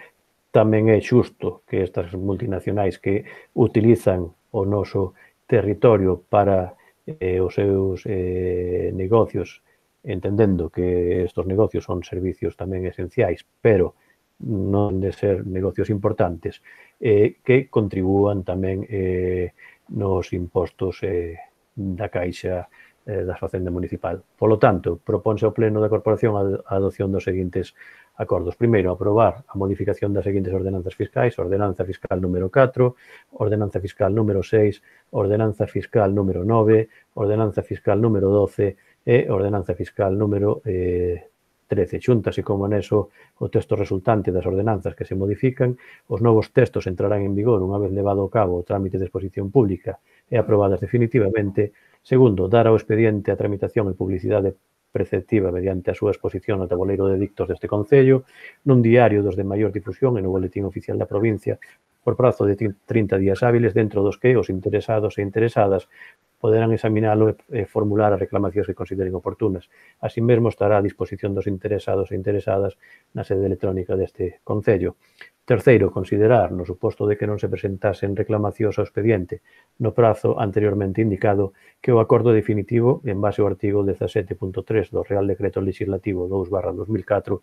F: tamén é xusto que estas multinacionais que utilizan o noso territorio para eh, os seus eh, negocios, entendendo que estos negocios son servicios tamén esenciais, pero non de ser negocios importantes, eh, que contribúan tamén eh, nos impostos eh, da Caixa eh, da Facenda Municipal. Polo tanto, propónse ao Pleno da Corporación a adopción dos seguintes acordos. Primeiro, aprobar a modificación das seguintes ordenanzas fiscais, ordenanza fiscal número catro, ordenanza fiscal número seis, ordenanza fiscal número nove, ordenanza fiscal número doce e ordenanza fiscal número eh, trece. Xúntase como anexo o texto resultante das ordenanzas que se modifican, os novos textos entrarán en vigor unha vez levado a cabo o trámite de exposición pública e aprobadas definitivamente. Segundo, dar ao expediente a tramitación e publicidade preceptiva mediante a súa exposición no tabuleiro de dictos deste Concello, nun diario dos de maior difusión e no boletín oficial da provincia, por prazo de trinta días hábiles, dentro dos que os interesados e interesadas poderán examinalo e formular as reclamacións que consideren oportunas. Así mesmo estará a disposición dos interesados e interesadas na sede electrónica deste Concello. Terceiro, considerar, no suposto de que non se presentasen reclamacións ao expediente no prazo anteriormente indicado, que o acordo definitivo, en base ao artigo dezasete punto tres do Real Decreto Legislativo dous barra dos mil catro,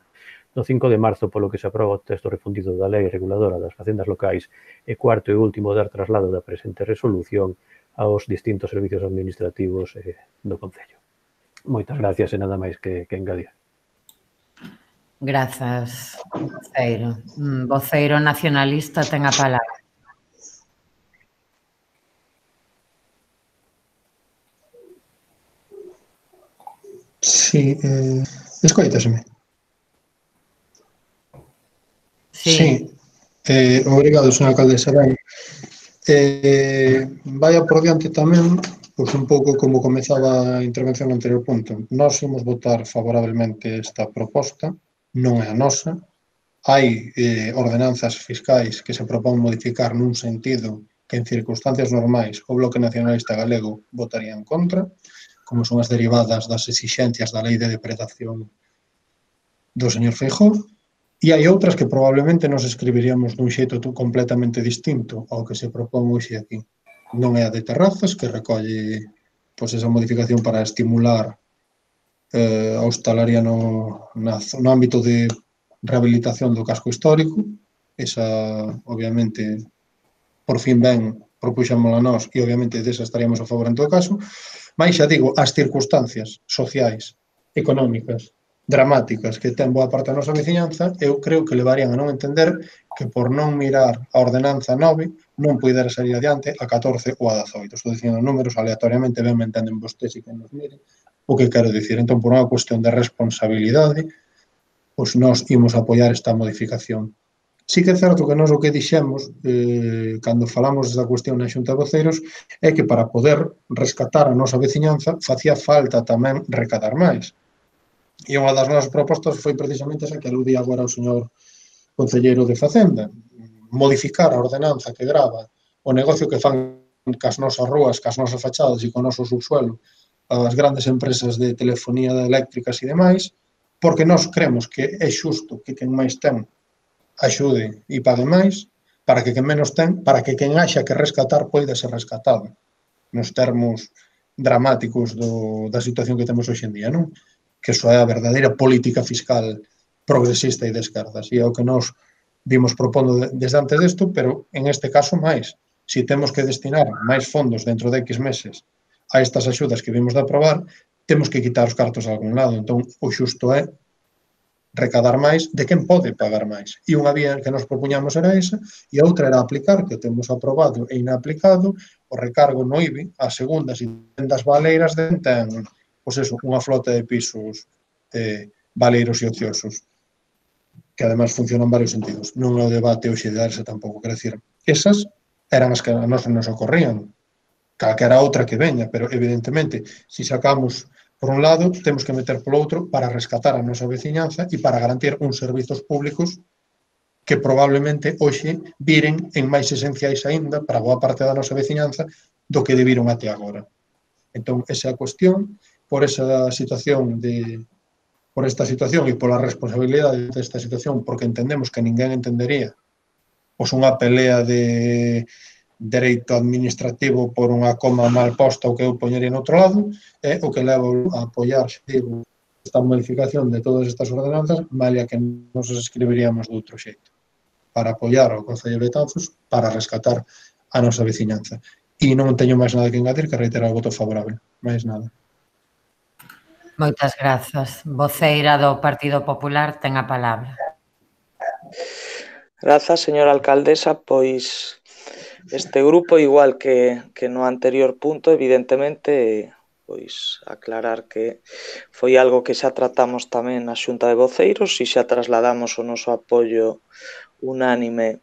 F: do cinco de marzo, polo que se aproba o texto refundido da Lei Reguladora das Facendas Locais, e cuarto e último, dar traslado da presente resolución aos distintos servicios administrativos eh, do Concello. Moitas gracias e nada máis que, que engadir.
A: Grazas, voceiro. Voceiro nacionalista ten a palabra.
D: Sí, eh, escoitaseme.
A: Sí.
D: Sí. Eh, obrigado, señora alcaldesa. Ben, eh, vaya por diante tamén, pois un pouco como comezaba a intervención no anterior punto. Nós imos votar favorablemente esta proposta, non é a nosa. Hai eh, ordenanzas fiscais que se propón modificar nun sentido que en circunstancias normais o Bloque Nacionalista Galego votaría en contra, como son as derivadas das exixencias da Lei de Depredación do señor Feijóo, e hai outras que probablemente nos escribiríamos dun xeito completamente distinto ao que se propón hoxe aquí. Non é a de terrazas, que recolle pois, esa modificación para estimular eh, a hostalaría no, na, no ámbito de rehabilitación do casco histórico. Esa, obviamente, por fin ben, propuxámola nós e, obviamente, desa estaríamos a favor en todo caso. Mas, xa digo, as circunstancias sociais, económicas, dramáticas que ten boa parte da nosa veciñanza, eu creo que levarían a non entender que por non mirar a ordenanza nove non poidera salir adiante a catorce ou a dezoito. Estou dicindo números aleatoriamente, ben me entenden vostedes e que nos miren o que quero dicir. Entón, por unha cuestión de responsabilidade, pois nós imos apoiar esta modificación. Sí que é certo que nós o que dixemos, eh, cando falamos desta cuestión na Xunta de Voceiros, é que para poder rescatar a nosa veciñanza facía falta tamén recadar máis. E unha das nosas propostas foi precisamente esa que aludía agora o señor concelleiro de Facenda, modificar a ordenanza que grava o negocio que fan cas nosas rúas, cas nosas fachadas e co noso subsuelo as grandes empresas de telefonía eléctricas e demais, porque nós cremos que é xusto que quen máis ten axude e pague máis, para que quen menos ten, para que quen haxa que rescatar poida ser rescatado, nos termos dramáticos do, da situación que temos hoxe en día, non? Que iso é a verdadeira política fiscal progresista e de esquerdas. E é o que nos vimos propondo desde antes desto, pero en este caso máis. Si temos que destinar máis fondos dentro de X meses a estas axudas que vimos de aprobar, temos que quitar os cartos a algún lado. Entón, o xusto é recadar máis de quen pode pagar máis. E unha vía que nos propuñamos era esa, e a outra era aplicar, que temos aprobado e inaplicado, o recargo no I B I a segundas e vendas baleiras de ten, pois eso, unha flota de pisos eh, baleiros e ociosos, que además funcionan en varios sentidos. Non é o debate hoxe de darse tampouco, quero dicir, esas eran as que a nós nos ocorrían, calquera outra que veña, pero evidentemente, se sacamos por un lado, temos que meter polo outro para rescatar a nosa veciñanza e para garantir uns servizos públicos que probablemente hoxe viren en máis esenciais aínda para boa parte da nosa veciñanza do que debiron até agora. Entón, esa é a cuestión, por esa situación de por esta situación e pola responsabilidade desta situación, porque entendemos que ninguén entendería pois unha pelea de dereito administrativo por unha coma mal posta o que eu poñería no outro lado, é o que leva a apoiar, digo, esta modificación de todas estas ordenanzas, malia que nos escribiríamos de outro xeito, para apoiar o Concello de Betanzos, para rescatar a nosa veciñanza. E non teño máis nada que engadir que reiterar o voto favorable, máis nada.
A: Moitas grazas. Voceira do Partido Popular ten a palabra.
G: Grazas, señora alcaldesa, pois este grupo, igual que, que no anterior punto, evidentemente, pois aclarar que foi algo que xa tratamos tamén na Xunta de Voceiros e xa trasladamos o noso apoio unánime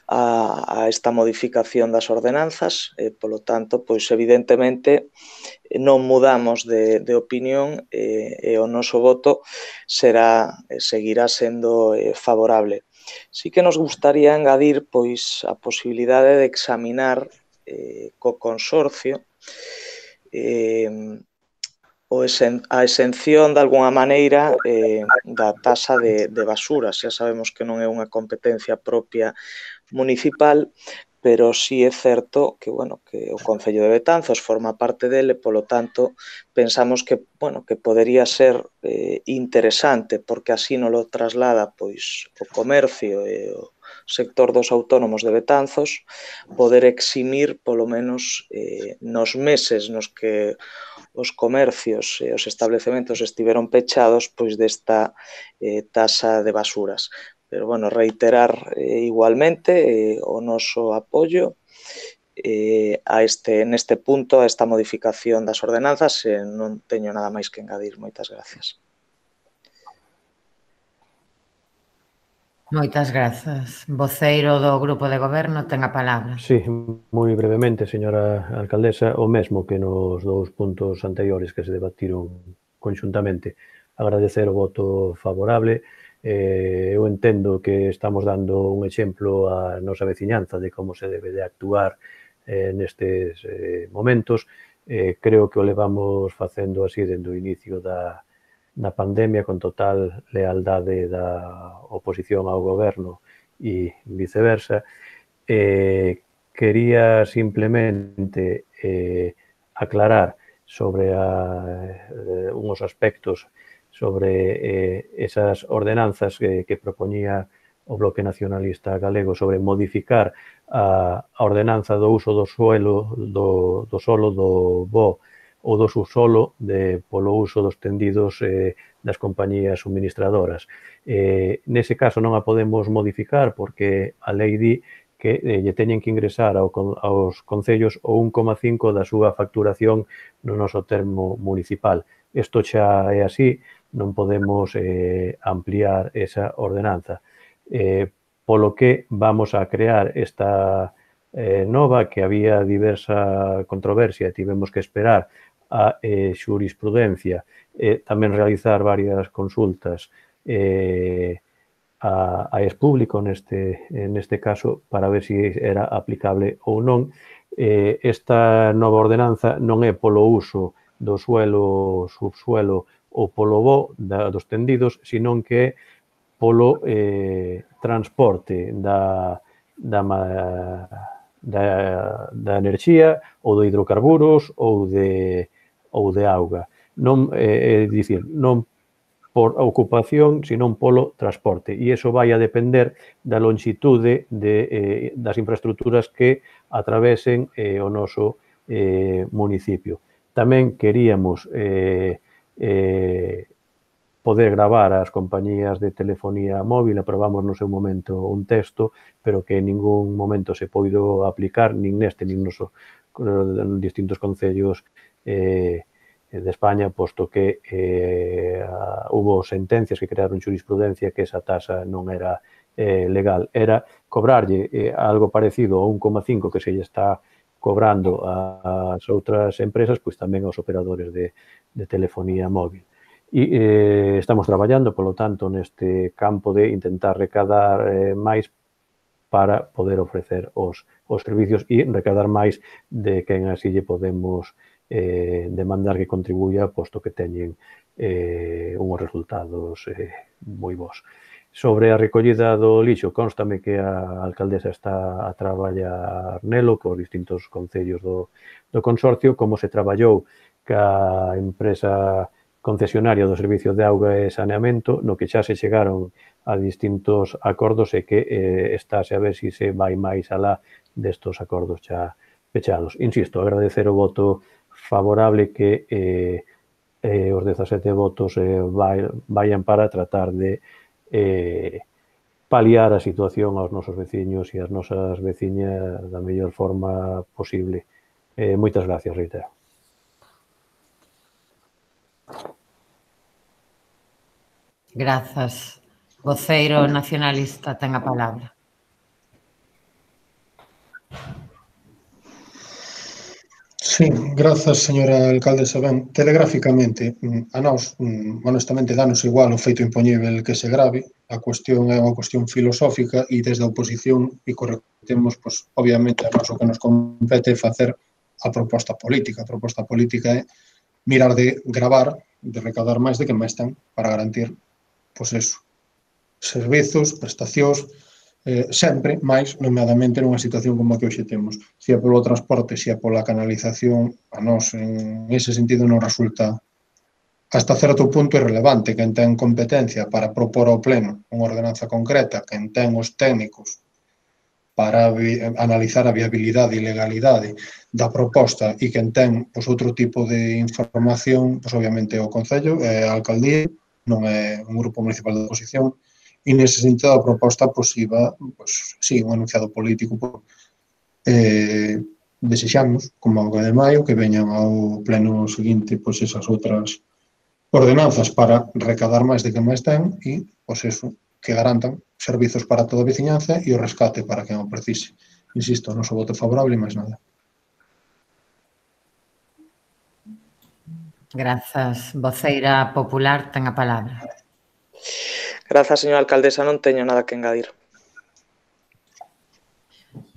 G: a, a esta modificación das ordenanzas, e, polo tanto, pois evidentemente non mudamos de, de opinión e, e o noso voto será, seguirá sendo eh, favorable. Sí que nos gustaría engadir pois a posibilidade de examinar eh, co consorcio eh, o esen, a exención de alguna maneira eh, da tasa de, de basura. Xa sabemos que non é unha competencia propia municipal, pero sí é certo que, bueno, que o Concello de Betanzos forma parte dele, polo tanto, pensamos que, bueno, que podería ser eh, interesante, porque así non lo traslada pois o comercio e o sector dos autónomos de Betanzos, poder eximir, polo menos, eh, nos meses nos que os comercios e os establecementos estiveron pechados, pois desta eh, tasa de basuras. Pero, bueno, reiterar eh, igualmente eh, o noso apoio eh, a este, neste punto, a esta modificación das ordenanzas, e non teño nada máis que engadir. Moitas gracias.
A: Moitas grazas. Voceiro do Grupo de Goberno ten a palabra.
F: Sí, moi brevemente, señora alcaldesa, o mesmo que nos dous puntos anteriores que se debatiron conxuntamente. Agradecer o voto favorable. Eh, eu entendo que estamos dando un exemplo á nosa veciñanza de como se debe de actuar eh, nestes eh, momentos. Eh, creo que o levamos facendo así dende o inicio da, da pandemia, con total lealdade da oposición ao goberno e viceversa. Eh, quería simplemente eh, aclarar sobre a, eh, uns aspectos sobre eh, esas ordenanzas que, que propoñía o Bloque Nacionalista Galego sobre modificar a, a ordenanza do uso do suelo, do, do solo do bo ou do subsolo de, polo uso dos tendidos eh, das compañías suministradoras. Eh, nese caso non a podemos modificar porque a lei di que eh, lle teñen que ingresar ao, aos concellos o un coma cinco da súa facturación no noso termo municipal. Isto xa é así, non podemos eh, ampliar esa ordenanza. Eh, polo que vamos a crear esta eh, nova, que había diversa controversia, tivemos que esperar a eh, xurisprudencia, eh, tamén realizar varias consultas eh, a, a expúblico neste, neste caso para ver se si era aplicable ou non. Eh, esta nova ordenanza non é polo uso do suelo, subsuelo ou polo bo da, dos tendidos, senón que polo eh, transporte da, da, da, da enerxía ou de hidrocarburos ou de, ou de auga. Non, eh, é dicir, non por ocupación, senón polo transporte. E iso vai a depender da longitude de, eh, das infraestructuras que atravesen eh, o noso eh, municipio. Tamén queríamos eh, eh, poder gravar as compañías de telefonía móvil, aprobamos no seu momento un texto, pero que en ningún momento se poido aplicar, nin neste, nin nos en distintos concellos eh, de España, posto que eh, hubo sentencias que crearon xurisprudencia que esa tasa non era eh, legal. Era cobrarlle eh, algo parecido ao un coma cinco que se lle está cobrando ás outras empresas, pois tamén aos operadores de, de telefonía móvil. E eh, estamos traballando, polo tanto, neste campo de intentar recadar eh, máis para poder ofrecer os, os servicios e recaudar máis de quen así lle podemos eh, demandar que contribuya, posto que teñen eh, unhos resultados eh, moi bons. Sobre a recollida do lixo, constame que a alcaldesa está a traballar nelo cos distintos concellos do, do consorcio, como se traballou ca empresa concesionaria do Servicio de Auga e Saneamento, no que xa se chegaron a distintos acordos e que eh, estáse a ver se se vai máis alá destos acordos xa pechados. Insisto, agradecer o voto favorable que eh, eh, os dezasete votos eh, vai, vayan para tratar de eh, paliar a situación aos nosos veciños e as nosas veciñas da mellor forma posible. Eh, moitas gracias, reitero.
A: Grazas. Voceiro nacionalista ten a palabra.
D: Sí, grazas, señora alcaldesa. Ben, telegráficamente, a nós, honestamente, danos igual o feito impoñível que se grave. A cuestión é unha cuestión filosófica e desde a oposición, e correctemos, pois, obviamente, a nós o que nos compete é facer a proposta política. A proposta política é mirar de gravar, de recaudar máis de que máis ten para garantir, pois, eso, servizos, prestacións, eh, sempre máis, nomeadamente, nunha situación como a que hoxe temos. Se é polo transporte, se é pola canalización, a nós, en ese sentido, non resulta hasta certo punto irrelevante. Quen ten competencia para propor ao pleno unha ordenanza concreta, quen ten os técnicos para analizar a viabilidade e legalidade da proposta e quen ten, pois, outro tipo de información, pois, obviamente, o Concello, é a alcaldía, non é un grupo municipal de oposición, e nese sentido a proposta posiva, pois, sí, un anunciado político. Eh, desexamos, como a de maio, que veñan ao pleno seguinte, pois, esas outras ordenanzas para recadar máis de que máis ten e, pois, eso, que garantan servizos para toda a veciñanza e o rescate para quen o precise. Insisto, o noso voto favorable e máis nada.
A: Grazas. Voceira popular ten a palabra.
G: Grazas, señora alcaldesa, non teño nada que engadir.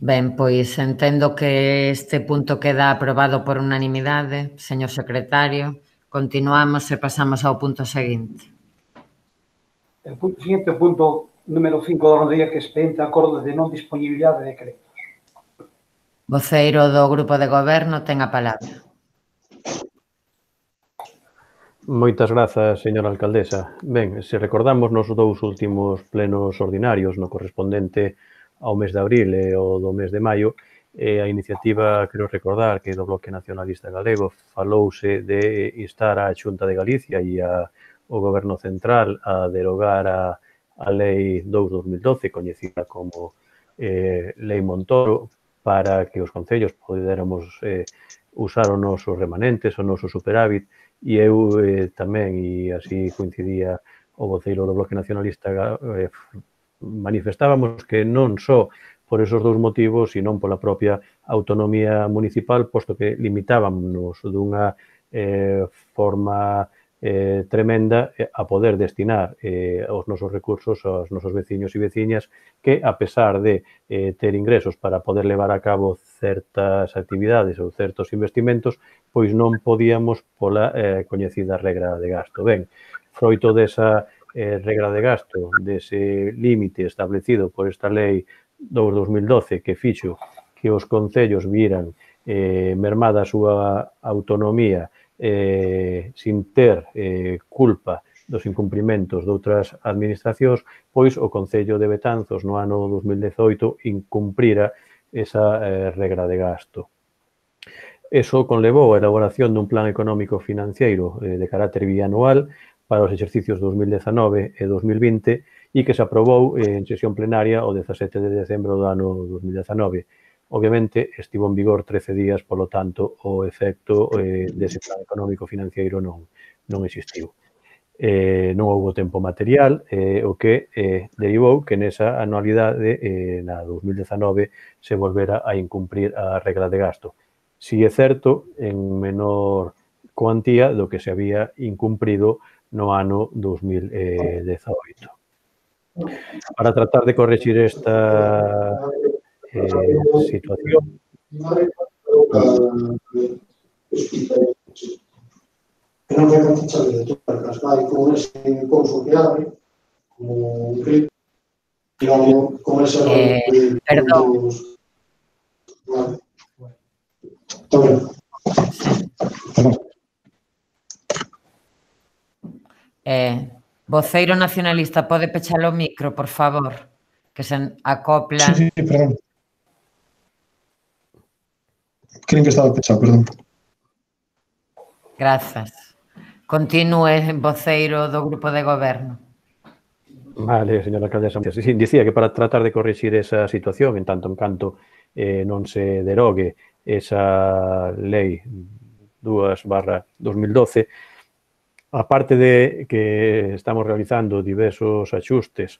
A: Ben, pois entendo que este punto queda aprobado por unanimidade, señor secretario. Continuamos e pasamos ao punto seguinte.
B: El punto seguinte, o punto número cinco da orde, que é expediente acordo de non disponibilidade de créditos.
A: Voceiro do Grupo de Goberno ten a palabra.
F: Moitas grazas, señora alcaldesa. Ben, se recordamos nos dous últimos plenos ordinarios, no correspondente ao mes de abril e ao do mes de maio, eh, a iniciativa, quero recordar, que do Bloque Nacionalista Galego falouse de instar a Xunta de Galicia e a, o Goberno Central a derogar a, a Lei dous barra dos mil doce, coñecida como eh, Lei Montoro, para que os concellos poderamos eh, usar os nosos remanentes, o noso superávit. E eu eh, tamén, e así coincidía o voceiro do Bloque Nacionalista, eh, manifestábamos que non só por esos dous motivos, sino pola propia autonomía municipal, posto que limitábamos dunha eh, forma eh, tremenda a poder destinar eh, os nosos recursos aos nosos veciños e veciñas que, a pesar de eh, ter ingresos para poder levar a cabo certas actividades ou certos investimentos, pois non podíamos pola eh, coñecida regra de gasto. Ben, froito desa eh, regra de gasto, dese límite establecido por esta lei dous barra dos mil doce que fixo que os concellos viran eh, mermada a súa autonomía eh, sin ter eh, culpa dos incumprimentos de outras administracións, pois o Concello de Betanzos no ano dos mil dezoito incumprira esa eh, regra de gasto. Eso conlevou a elaboración dun plan económico financiero eh, de carácter bianual para os exercicios dos mil dezanove e dos mil vinte e que se aprobou eh, en sesión plenaria o dezasete de decembro do ano dos mil dezanove. Obviamente, estivo en vigor trece días, polo tanto, o efecto eh, dese plan económico financiero non, non existiu. Eh, non houve tempo material, eh, o que eh, derivou que nesa anualidade, eh, na dos mil dezanove, se volvera a incumprir a regra de gasto. Si é certo, en menor cuantía do que se había incumprido no ano dos mil dezaoito. Para tratar de corregir esta eh, situación.
D: Que non vai cantichar de todas, vai con ese couso que abre, como un clip, e vamos con ese
A: eh, perdón.
D: Vale. Está ben. Perdón.
A: Eh, voceiro nacionalista, pode pechar o micro, por favor, que se acopla.
D: Sí, sí, perdón. Creen que estaba pechado, perdón.
A: Grazas. Continúe, voceiro do Grupo de Goberno.
F: Vale, señora alcaldesa. Sí, dicía que para tratar de corrixir esa situación, en tanto en canto eh, non se derogue esa lei dúas barra dos mil doce, aparte de que estamos realizando diversos axustes,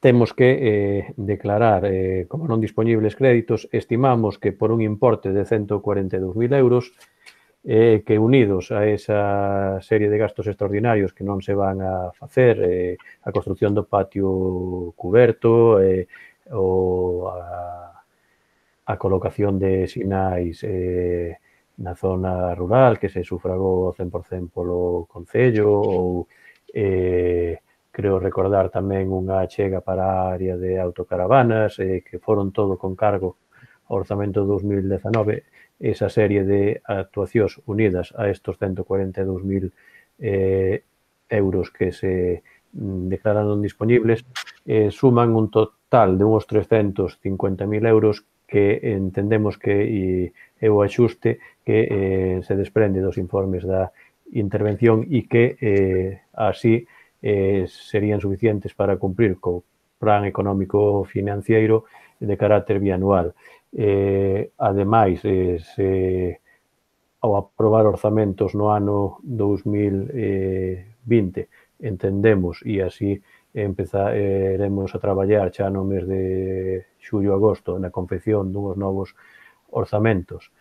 F: temos que eh, declarar eh, como non dispoñibles créditos, estimamos que por un importe de ciento cuarenta e dous mil euros, eh, que unidos a esa serie de gastos extraordinarios que non se van a facer, eh, a construcción do patio cuberto, eh, ou a, a colocación de sinais eh, na zona rural que se sufragou ao cen por cen polo Concello, ou eh, creo recordar tamén unha achega para a área de autocaravanas, eh, que foron todo con cargo ao orzamento dos mil dezanove, esa serie de actuacións unidas a estos ciento cuarenta e dous mil eh, euros que se declararon disponibles, eh, suman un total de uns trescentos cincuenta mil euros que entendemos que é o axuste que eh, se desprende dos informes da intervención e que eh, así eh, serían suficientes para cumprir co plan económico financiero de carácter bianual. Eh, ademais, eh, se, ao aprobar orzamentos no ano dos mil vinte, entendemos, e así empezaremos a traballar xa no mes de xullo-agosto na confección duns novos orzamentos,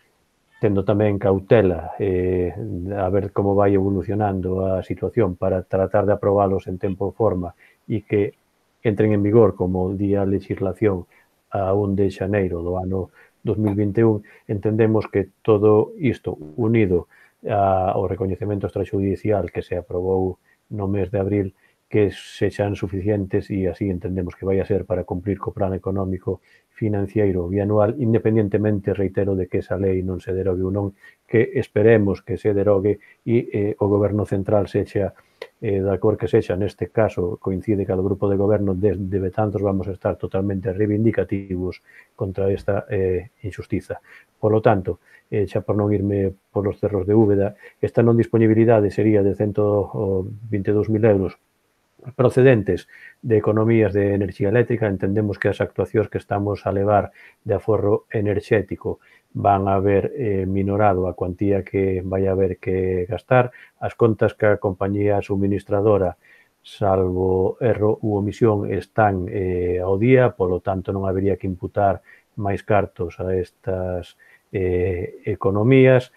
F: tendo tamén cautela eh, a ver como vai evolucionando a situación para tratar de aprobalos en tempo e forma e que entren en vigor como día a legislación a un de xaneiro do ano dos mil vinte e un, entendemos que todo isto unido ao recoñecemento extrajudicial que se aprobou no mes de abril, que sexan suficientes e así entendemos que vai a ser para cumprir co plan económico financiero bianual, independentemente, reitero, de que esa lei non se derogue ou non, que esperemos que se derogue e eh, o Goberno Central sexa eh, da cor que sexa, neste caso coincide que o grupo de goberno desde Betanzos vamos a estar totalmente reivindicativos contra esta eh, injustiza. Por lo tanto, eh, xa por non irme polos cerros de Úbeda, esta non disponibilidade sería de ciento vinte e dous mil euros procedentes de economías de enerxía eléctrica. Entendemos que as actuacións que estamos a levar de aforro enerxético van a ver eh, minorado a cuantía que vai haber que gastar. As contas que a compañía suministradora, salvo erro ou omisión, están eh, ao día, polo tanto non habería que imputar máis cartos a estas eh, economías.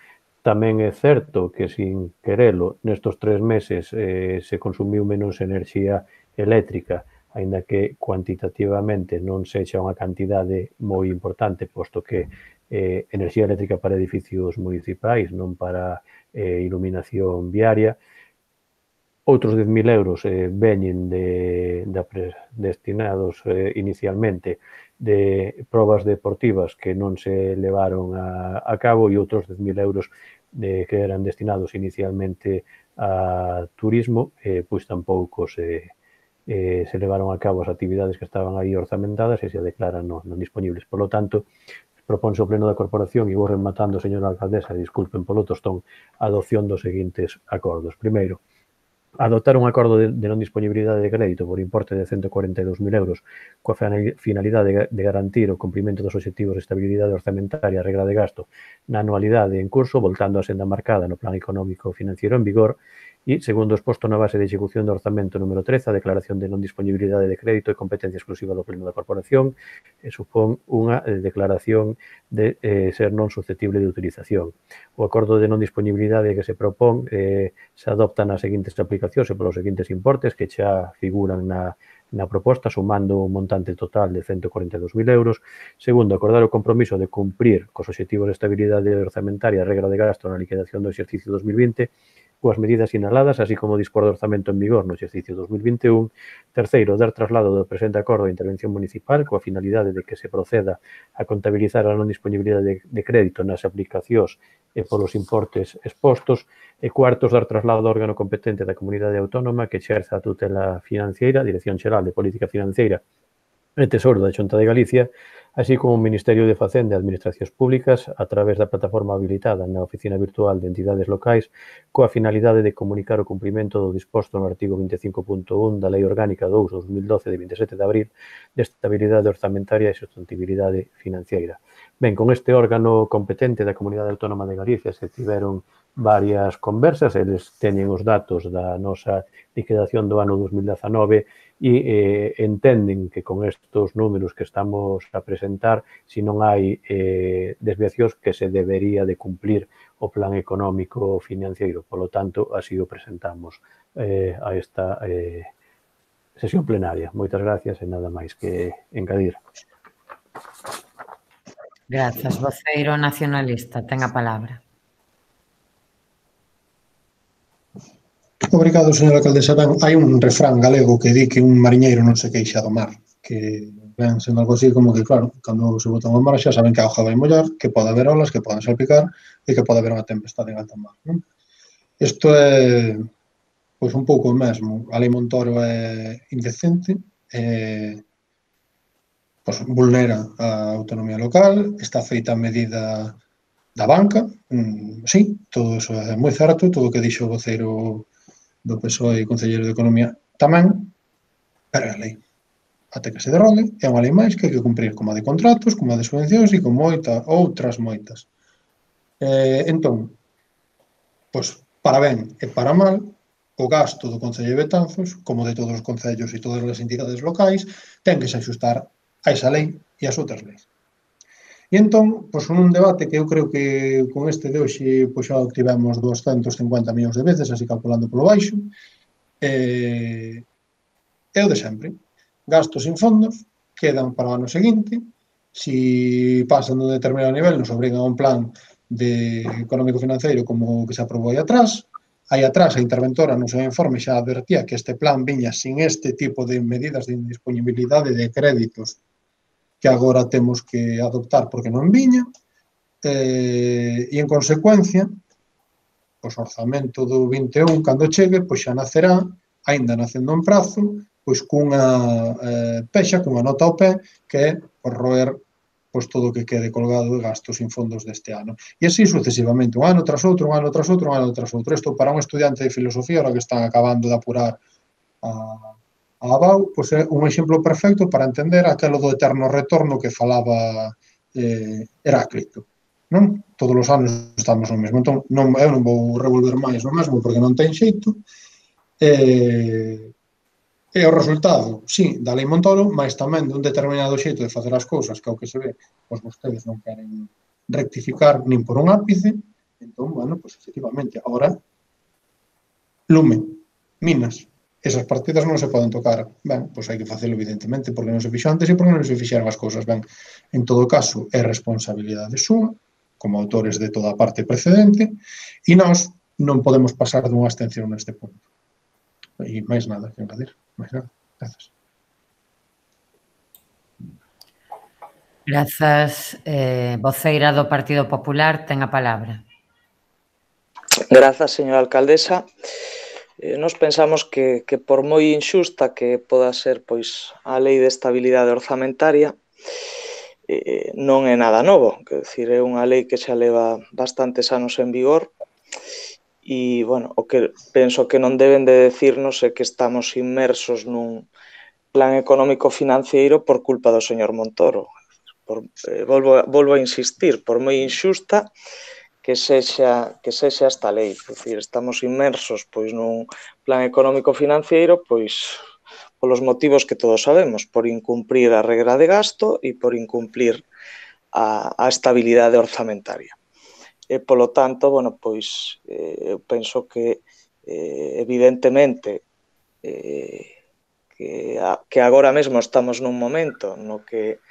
F: Tamén é certo que, sin querelo, nestos tres meses eh, se consumiu menos enerxía eléctrica, aínda que cuantitativamente non sexa unha cantidade moi importante, posto que eh, enerxía eléctrica para edificios municipais, non para eh, iluminación viaria. Outros dez mil euros eh, veñen de, de destinados eh, inicialmente de probas deportivas que non se levaron a, a cabo, e outros dez mil euros de, que eran destinados inicialmente a turismo, eh, pois tampouco se, eh, se levaron a cabo as actividades que estaban aí orzamentadas e se declaran non, non disponibles. Por lo tanto, proponse o Pleno da Corporación, e vou rematando, señora alcaldesa, disculpen polo tostón, a adopción dos seguintes acordos. Primeiro, adoptar un acordo de, de non disponibilidade de crédito por importe de ciento cuarenta e dous mil euros coa finalidade de garantir o cumprimento dos obxectivos de estabilidade orzamentaria e regra de gasto na anualidade en curso, voltando a senda marcada no Plan Económico Financiero en vigor, e, segundo exposto na base de execución do orzamento número trece, a declaración de non disponibilidade de crédito e competencia exclusiva do Pleno da Corporación, e supón unha eh, declaración de eh, ser non susceptible de utilización. O acordo de non disponibilidade que se propón eh, se adopta nas seguintes aplicacións e polos seguintes importes que xa figuran na, na proposta, sumando un montante total de ciento cuarenta e dous mil euros. Segundo, acordar o compromiso de cumprir cos obxectivos de estabilidade orzamentaria e regra de gasto na liquidación do exercicio dos mil vinte coas medidas sinaladas, así como dispor do orzamento en vigor no exercicio dos mil vinte e un. Terceiro, dar traslado do presente acordo de intervención municipal coa finalidade de que se proceda a contabilizar a non disponibilidade de, de crédito nas aplicacións e polos importes expostos. E cuartos, dar traslado ao órgano competente da comunidade autónoma que exerza a tutela financiera, Dirección Xeral de Política Financeira e Tesouro da Xunta de Galicia, así como o Ministerio de Facenda e Administracións Públicas a través da plataforma habilitada na Oficina Virtual de Entidades Locais coa finalidade de comunicar o cumprimento do disposto no artigo vinte e cinco punto un da Lei Orgánica dous barra dos mil doce de vinte e sete de abril de estabilidade orzamentaria e sustentabilidade financiera. Ben, con este órgano competente da Comunidade Autónoma de Galicia se tiveron varias conversas, eles teñen os datos da nosa liquidación do ano dos mil dezanove e eh, entenden que con estes números que estamos a presentar, se non hai eh, desviacións, que se debería de cumplir o plan económico financiero. Por lo tanto, así o presentamos eh, a esta eh, sesión plenaria. Moitas gracias e nada máis que engadir.
A: Grazas. Voceiro nacionalista, ten a palabra.
D: Obrigado, señora alcaldesa. Ben, hai un refrán galego que di que un mariñeiro non se queixa do mar, que ven sendo algo así como que, claro, cando se botan ao mar xa saben que a auga vai mollar, que pode haber olas, que poden salpicar e que pode haber unha tempestade en alta mar, non? Isto é, pois, un pouco o mesmo. A Lei Montoro é indecente, é, pois, vulnera a autonomía local, está feita a medida da banca, mm, sí, todo iso é moi certo, todo o que dixo o voceiro do P S O E e Concelleiro de Economía tamén, pero é a lei. Até que se derrogue, é unha lei máis que hai que cumprir, como a de contratos, como a de subvencións e como moita, outras moitas. Eh, entón, pois, para ben e para mal, o gasto do Concello de Betanzos, como de todos os concellos e todas as entidades locais, ten que se axustar a esa lei e as outras leis. E entón, pois, un debate que eu creo que con este de hoxe pois, xa obtivemos doscientos cincuenta millóns de veces, así calculando polo baixo, eh, é o de sempre. Gastos sin fondos, quedan para o ano seguinte, si pasan dun determinado nivel, nos obrigan a un plan de económico financeiro como o que se aprobou aí atrás. Aí atrás a interventora no seu informe xa advertía que este plan viña sin este tipo de medidas de indisponibilidade de créditos que agora temos que adoptar porque non viña, eh, e en consecuencia, o orzamento do vinte e un, cando chegue, pois xa nacerá, aínda nacendo en prazo, pois cunha eh, pexa, cunha nota ao pé, que é por roer pois todo o que quede colgado de gastos sin fondos deste ano. E así sucesivamente, un ano tras outro, un ano tras outro, un ano tras outro. Isto para un estudiante de filosofía, ahora que están acabando de apurar a A A B A U, pois é un exemplo perfecto para entender aquelo do eterno retorno que falaba eh, Heráclito. Non? Todos os anos estamos no mesmo. Entón, non, eu non vou revolver máis o mesmo porque non ten xeito. E, e o resultado, sí, da Lei Montoro, mas tamén dun determinado xeito de facer as cousas, que é o que se ve, pois vostedes non queren rectificar nin por un ápice. Entón, bueno, pois efectivamente, agora, lume, minas, esas partidas non se poden tocar. Ben, pois hai que facelo evidentemente porque non se fixo antes e porque non se fixeron as cousas ben. En todo caso, é responsabilidade súa, como autores de toda a parte precedente, e nós non podemos pasar dunha abstención neste punto. E máis nada que engadir. Máis nada. Grazas.
A: Grazas. Eh, voceira do Partido Popular ten a palabra.
G: Grazas, señora alcaldesa. Eh, nos pensamos que, que por moi injusta que poda ser pois a Lei de Estabilidade Orzamentaria, eh, non é nada novo, quer decir, é unha lei que xa leva bastantes anos en vigor e, bueno, o que penso que non deben de decirnos é que estamos inmersos nun plan económico financiero por culpa do señor Montoro. Por, eh, volvo, volvo a insistir, por moi injusta que sexa, que sexa esta lei. É dicir, estamos inmersos pois nun plan económico financiero pois polos motivos que todos sabemos, por incumprir a regra de gasto e por incumplir a, a estabilidade orzamentaria. E, polo tanto, bueno, pois, eh, eu penso que, eh, evidentemente, eh, que, a, que agora mesmo estamos nun momento no que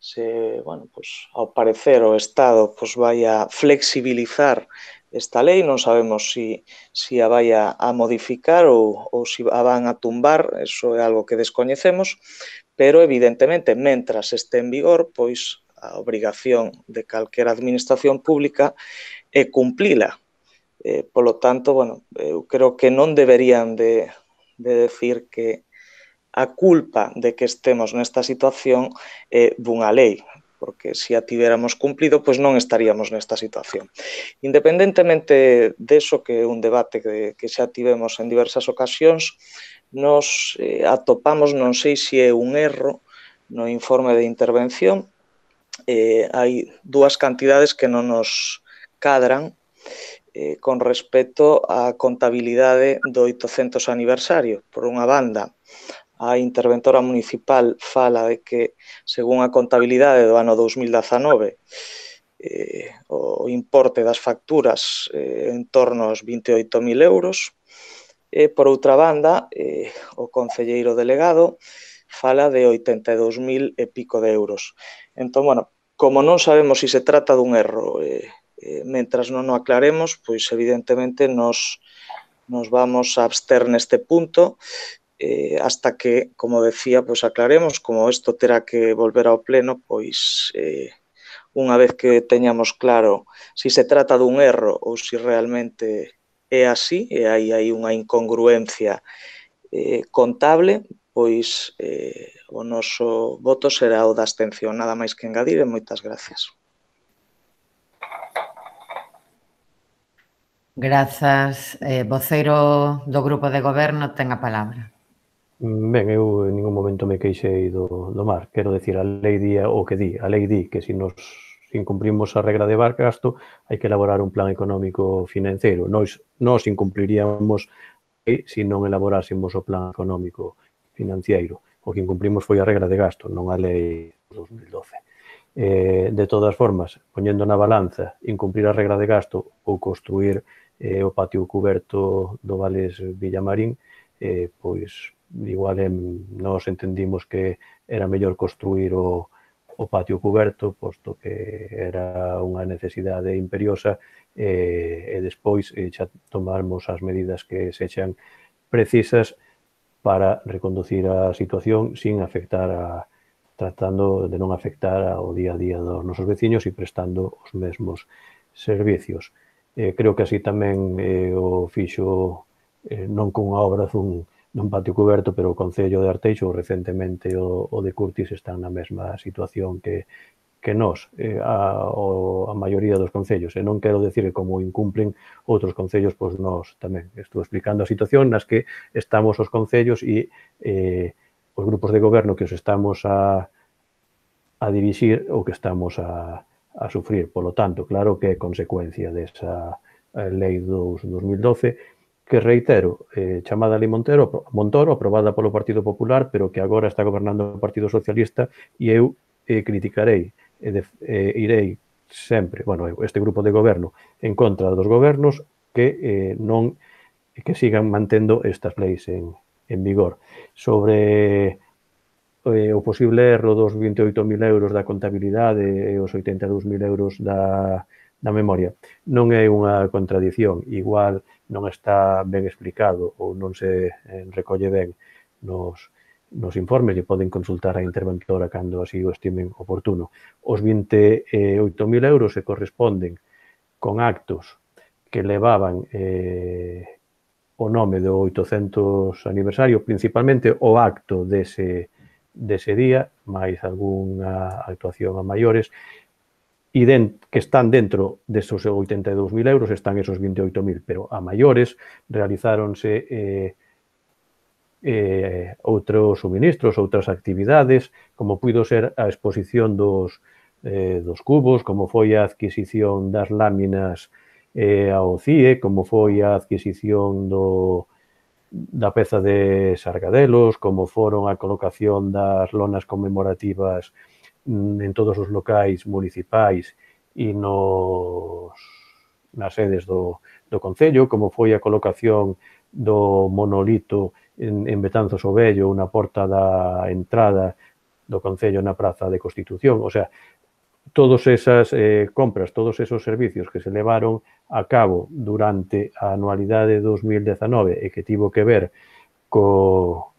G: se, bueno, pois, ao parecer o Estado pois, vai a flexibilizar esta lei, non sabemos si, si a vai a, a modificar ou, ou si a van a tumbar, eso é algo que descoñecemos, pero evidentemente, mentras este en vigor, pois a obrigación de calquera administración pública é cumplila. Eh, polo tanto, bueno, eu creo que non deberían de, de decir que a culpa de que estemos nesta situación é dunha lei, porque se a tivéramos cumplido, pois non estaríamos nesta situación. Independentemente deso, que é un debate que, que xa tivemos en diversas ocasións, nos eh, atopamos, non sei se é un erro, no informe de intervención, eh, hai dúas cantidades que non nos cadran eh, con respecto á contabilidade do oitocentos aniversario. Por unha banda, a interventora municipal fala de que, según a contabilidade do ano dous mil dezanove, eh, o importe das facturas eh, en torno aos vinte e oito mil euros. E, por outra banda, eh, o concelleiro delegado fala de oitenta e dous mil e pico de euros. Entón, bueno, como non sabemos se si se trata dun erro, eh, eh, mentras non o aclaremos, pois evidentemente nos, nos vamos a abster neste punto, Eh, hasta que, como decía, pois aclaremos, como isto terá que volver ao pleno, pois eh, unha vez que teñamos claro se si se trata dun erro ou se si realmente é así, e hai, hai unha incongruencia eh, contable, pois eh, o noso voto será o da abstención. Nada máis que engadir e moitas gracias.
A: Grazas. Eh, voceiro do Grupo de Goberno ten a palabra.
F: Ben, eu en ningún momento me queixei do, do mar. Quero decir, a lei di o que di. A lei di que se nos incumprimos a regra de gasto, hai que elaborar un plan económico financeiro. Nos, nos incumpliríamos se non elaborásemos o plan económico financiero. O que incumprimos foi a regra de gasto, non a lei dos mil doce. Eh, de todas formas, poñendo na balanza incumprir a regra de gasto ou construir eh, o patio cuberto do Vales Villamarín, eh, pois igual eh, nos entendimos que era mellor construir o, o patio cuberto, posto que era unha necesidade imperiosa, eh, e despois eh, xa tomarmos as medidas que sexan precisas para reconducir a situación sin afectar a, tratando de non afectar ao día a día dos nosos veciños e prestando os mesmos servicios. Eh, creo que así tamén eh, o fixo eh, non cunha obra dun nun patio cuberto, pero o Concello de Arteixo, recentemente o, o de Curtis, están na mesma situación que, que nós, eh, a, o, a maioría dos concellos. E non quero decir que como incumplen outros concellos, pois nós tamén. Estou explicando a situación nas que estamos os concellos e eh, os grupos de goberno que os estamos a, a dirixir ou que estamos a, a sufrir. Polo tanto, claro que é consecuencia desa lei dos dos mil doce, que reitero, eh, chamada Lei Montero, Montoro, aprobada polo Partido Popular, pero que agora está gobernando o Partido Socialista, e eu eh, criticarei, e de, eh, irei sempre, bueno, este grupo de goberno, en contra dos gobernos que eh, non que sigan mantendo estas leis en, en vigor. Sobre eh, o posible erro dos vinte e oito mil euros da contabilidade e os oitenta e dous mil euros da, da memoria, non é unha contradición, igual non está ben explicado ou non se recolle ben nos, nos informes e poden consultar a interventora cando así o estimen oportuno. Os vinte e oito mil euros se corresponden con actos que levaban eh, o nome do oitocentos aniversario, principalmente o acto dese, dese día, máis algunha actuación a maiores, e den, que están dentro desos oitenta e dous mil euros, están esos vinte e oito mil, pero a maiores realizáronse eh, eh, outros suministros, outras actividades, como puido ser a exposición dos, eh, dos cubos, como foi a adquisición das láminas eh, ao C I E, como foi a adquisición do, da peza de Sargadelos, como foron a colocación das lonas conmemorativas en todos os locais municipais e nos, nas sedes do, do Concello, como foi a colocación do monolito en, en Betanzos o Vello, na porta da entrada do Concello na Praza de Constitución. O sea, todas esas eh, compras, todos esos servicios que se levaron a cabo durante a anualidade dos mil dezanove e que tivo que ver co,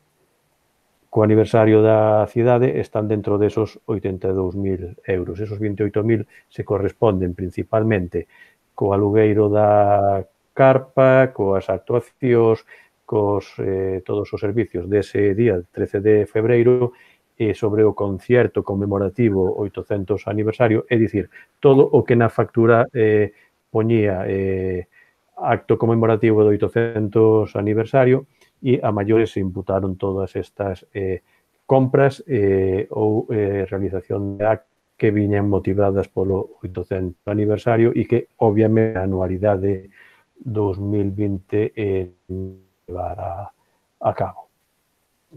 F: co aniversario da cidade están dentro desos oitenta e dous mil euros. Esos vinte e oito mil se corresponden principalmente co alugueiro da carpa, coas actuacións, cos eh, todos os servicios dese día, trece de febreiro, e sobre o concierto conmemorativo oitocentos aniversario, é dicir, todo o que na factura eh, poñía eh, acto conmemorativo do oitocentos aniversario, e a maiores se imputaron todas estas eh, compras eh, ou eh, realización de actos que viñan motivadas polo oitocentos aniversario e que, obviamente, a anualidade dos mil vinte eh, levar a, a cabo.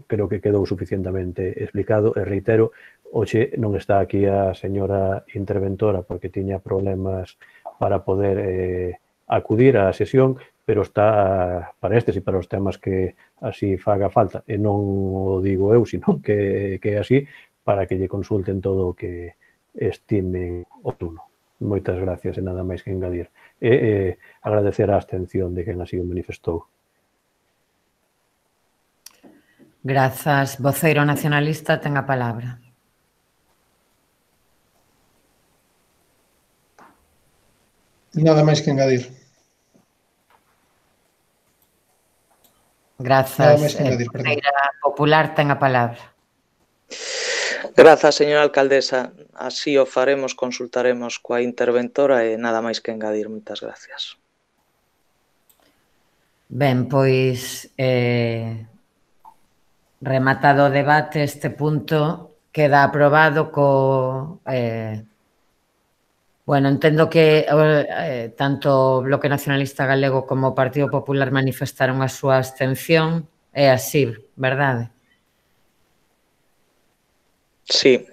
F: Creo que quedou suficientemente explicado e reitero, hoxe non está aquí a señora interventora porque tiña problemas para poder eh, acudir á sesión, pero está para estes e para os temas que así faga falta, e non o digo eu, sino que, que é así, para que lle consulten todo o que estimen oportuno. Moitas gracias e nada máis que engadir. E eh, agradecer a abstención de quen así o manifestou.
A: Grazas. Voceiro nacionalista, ten a palabra.
D: Nada máis que engadir.
A: Grazas.
D: Nada máis que engadir, perdón.
A: Voceira popular, ten a palabra.
G: Grazas, señora alcaldesa. Así o faremos, consultaremos coa interventora e nada máis que engadir. Moitas gracias.
A: Ben, pois, eh, rematado o debate, este punto queda aprobado co... Eh, bueno, entendo que eh, tanto o Bloque Nacionalista Galego como o Partido Popular manifestaron a súa abstención. É así, verdade?
G: Sí.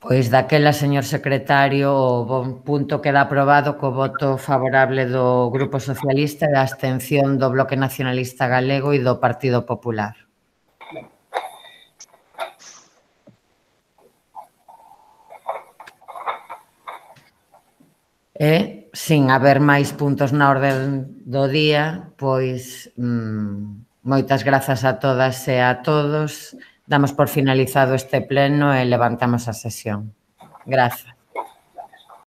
A: Pois daquela, señor secretario, o bon punto queda aprobado co voto favorable do Grupo Socialista e da abstención do Bloque Nacionalista Galego e do Partido Popular. E, sin haber máis puntos na orde do día, pois mmm, moitas grazas a todas e a todos. Damos por finalizado este pleno e levantamos a sesión. Grazas.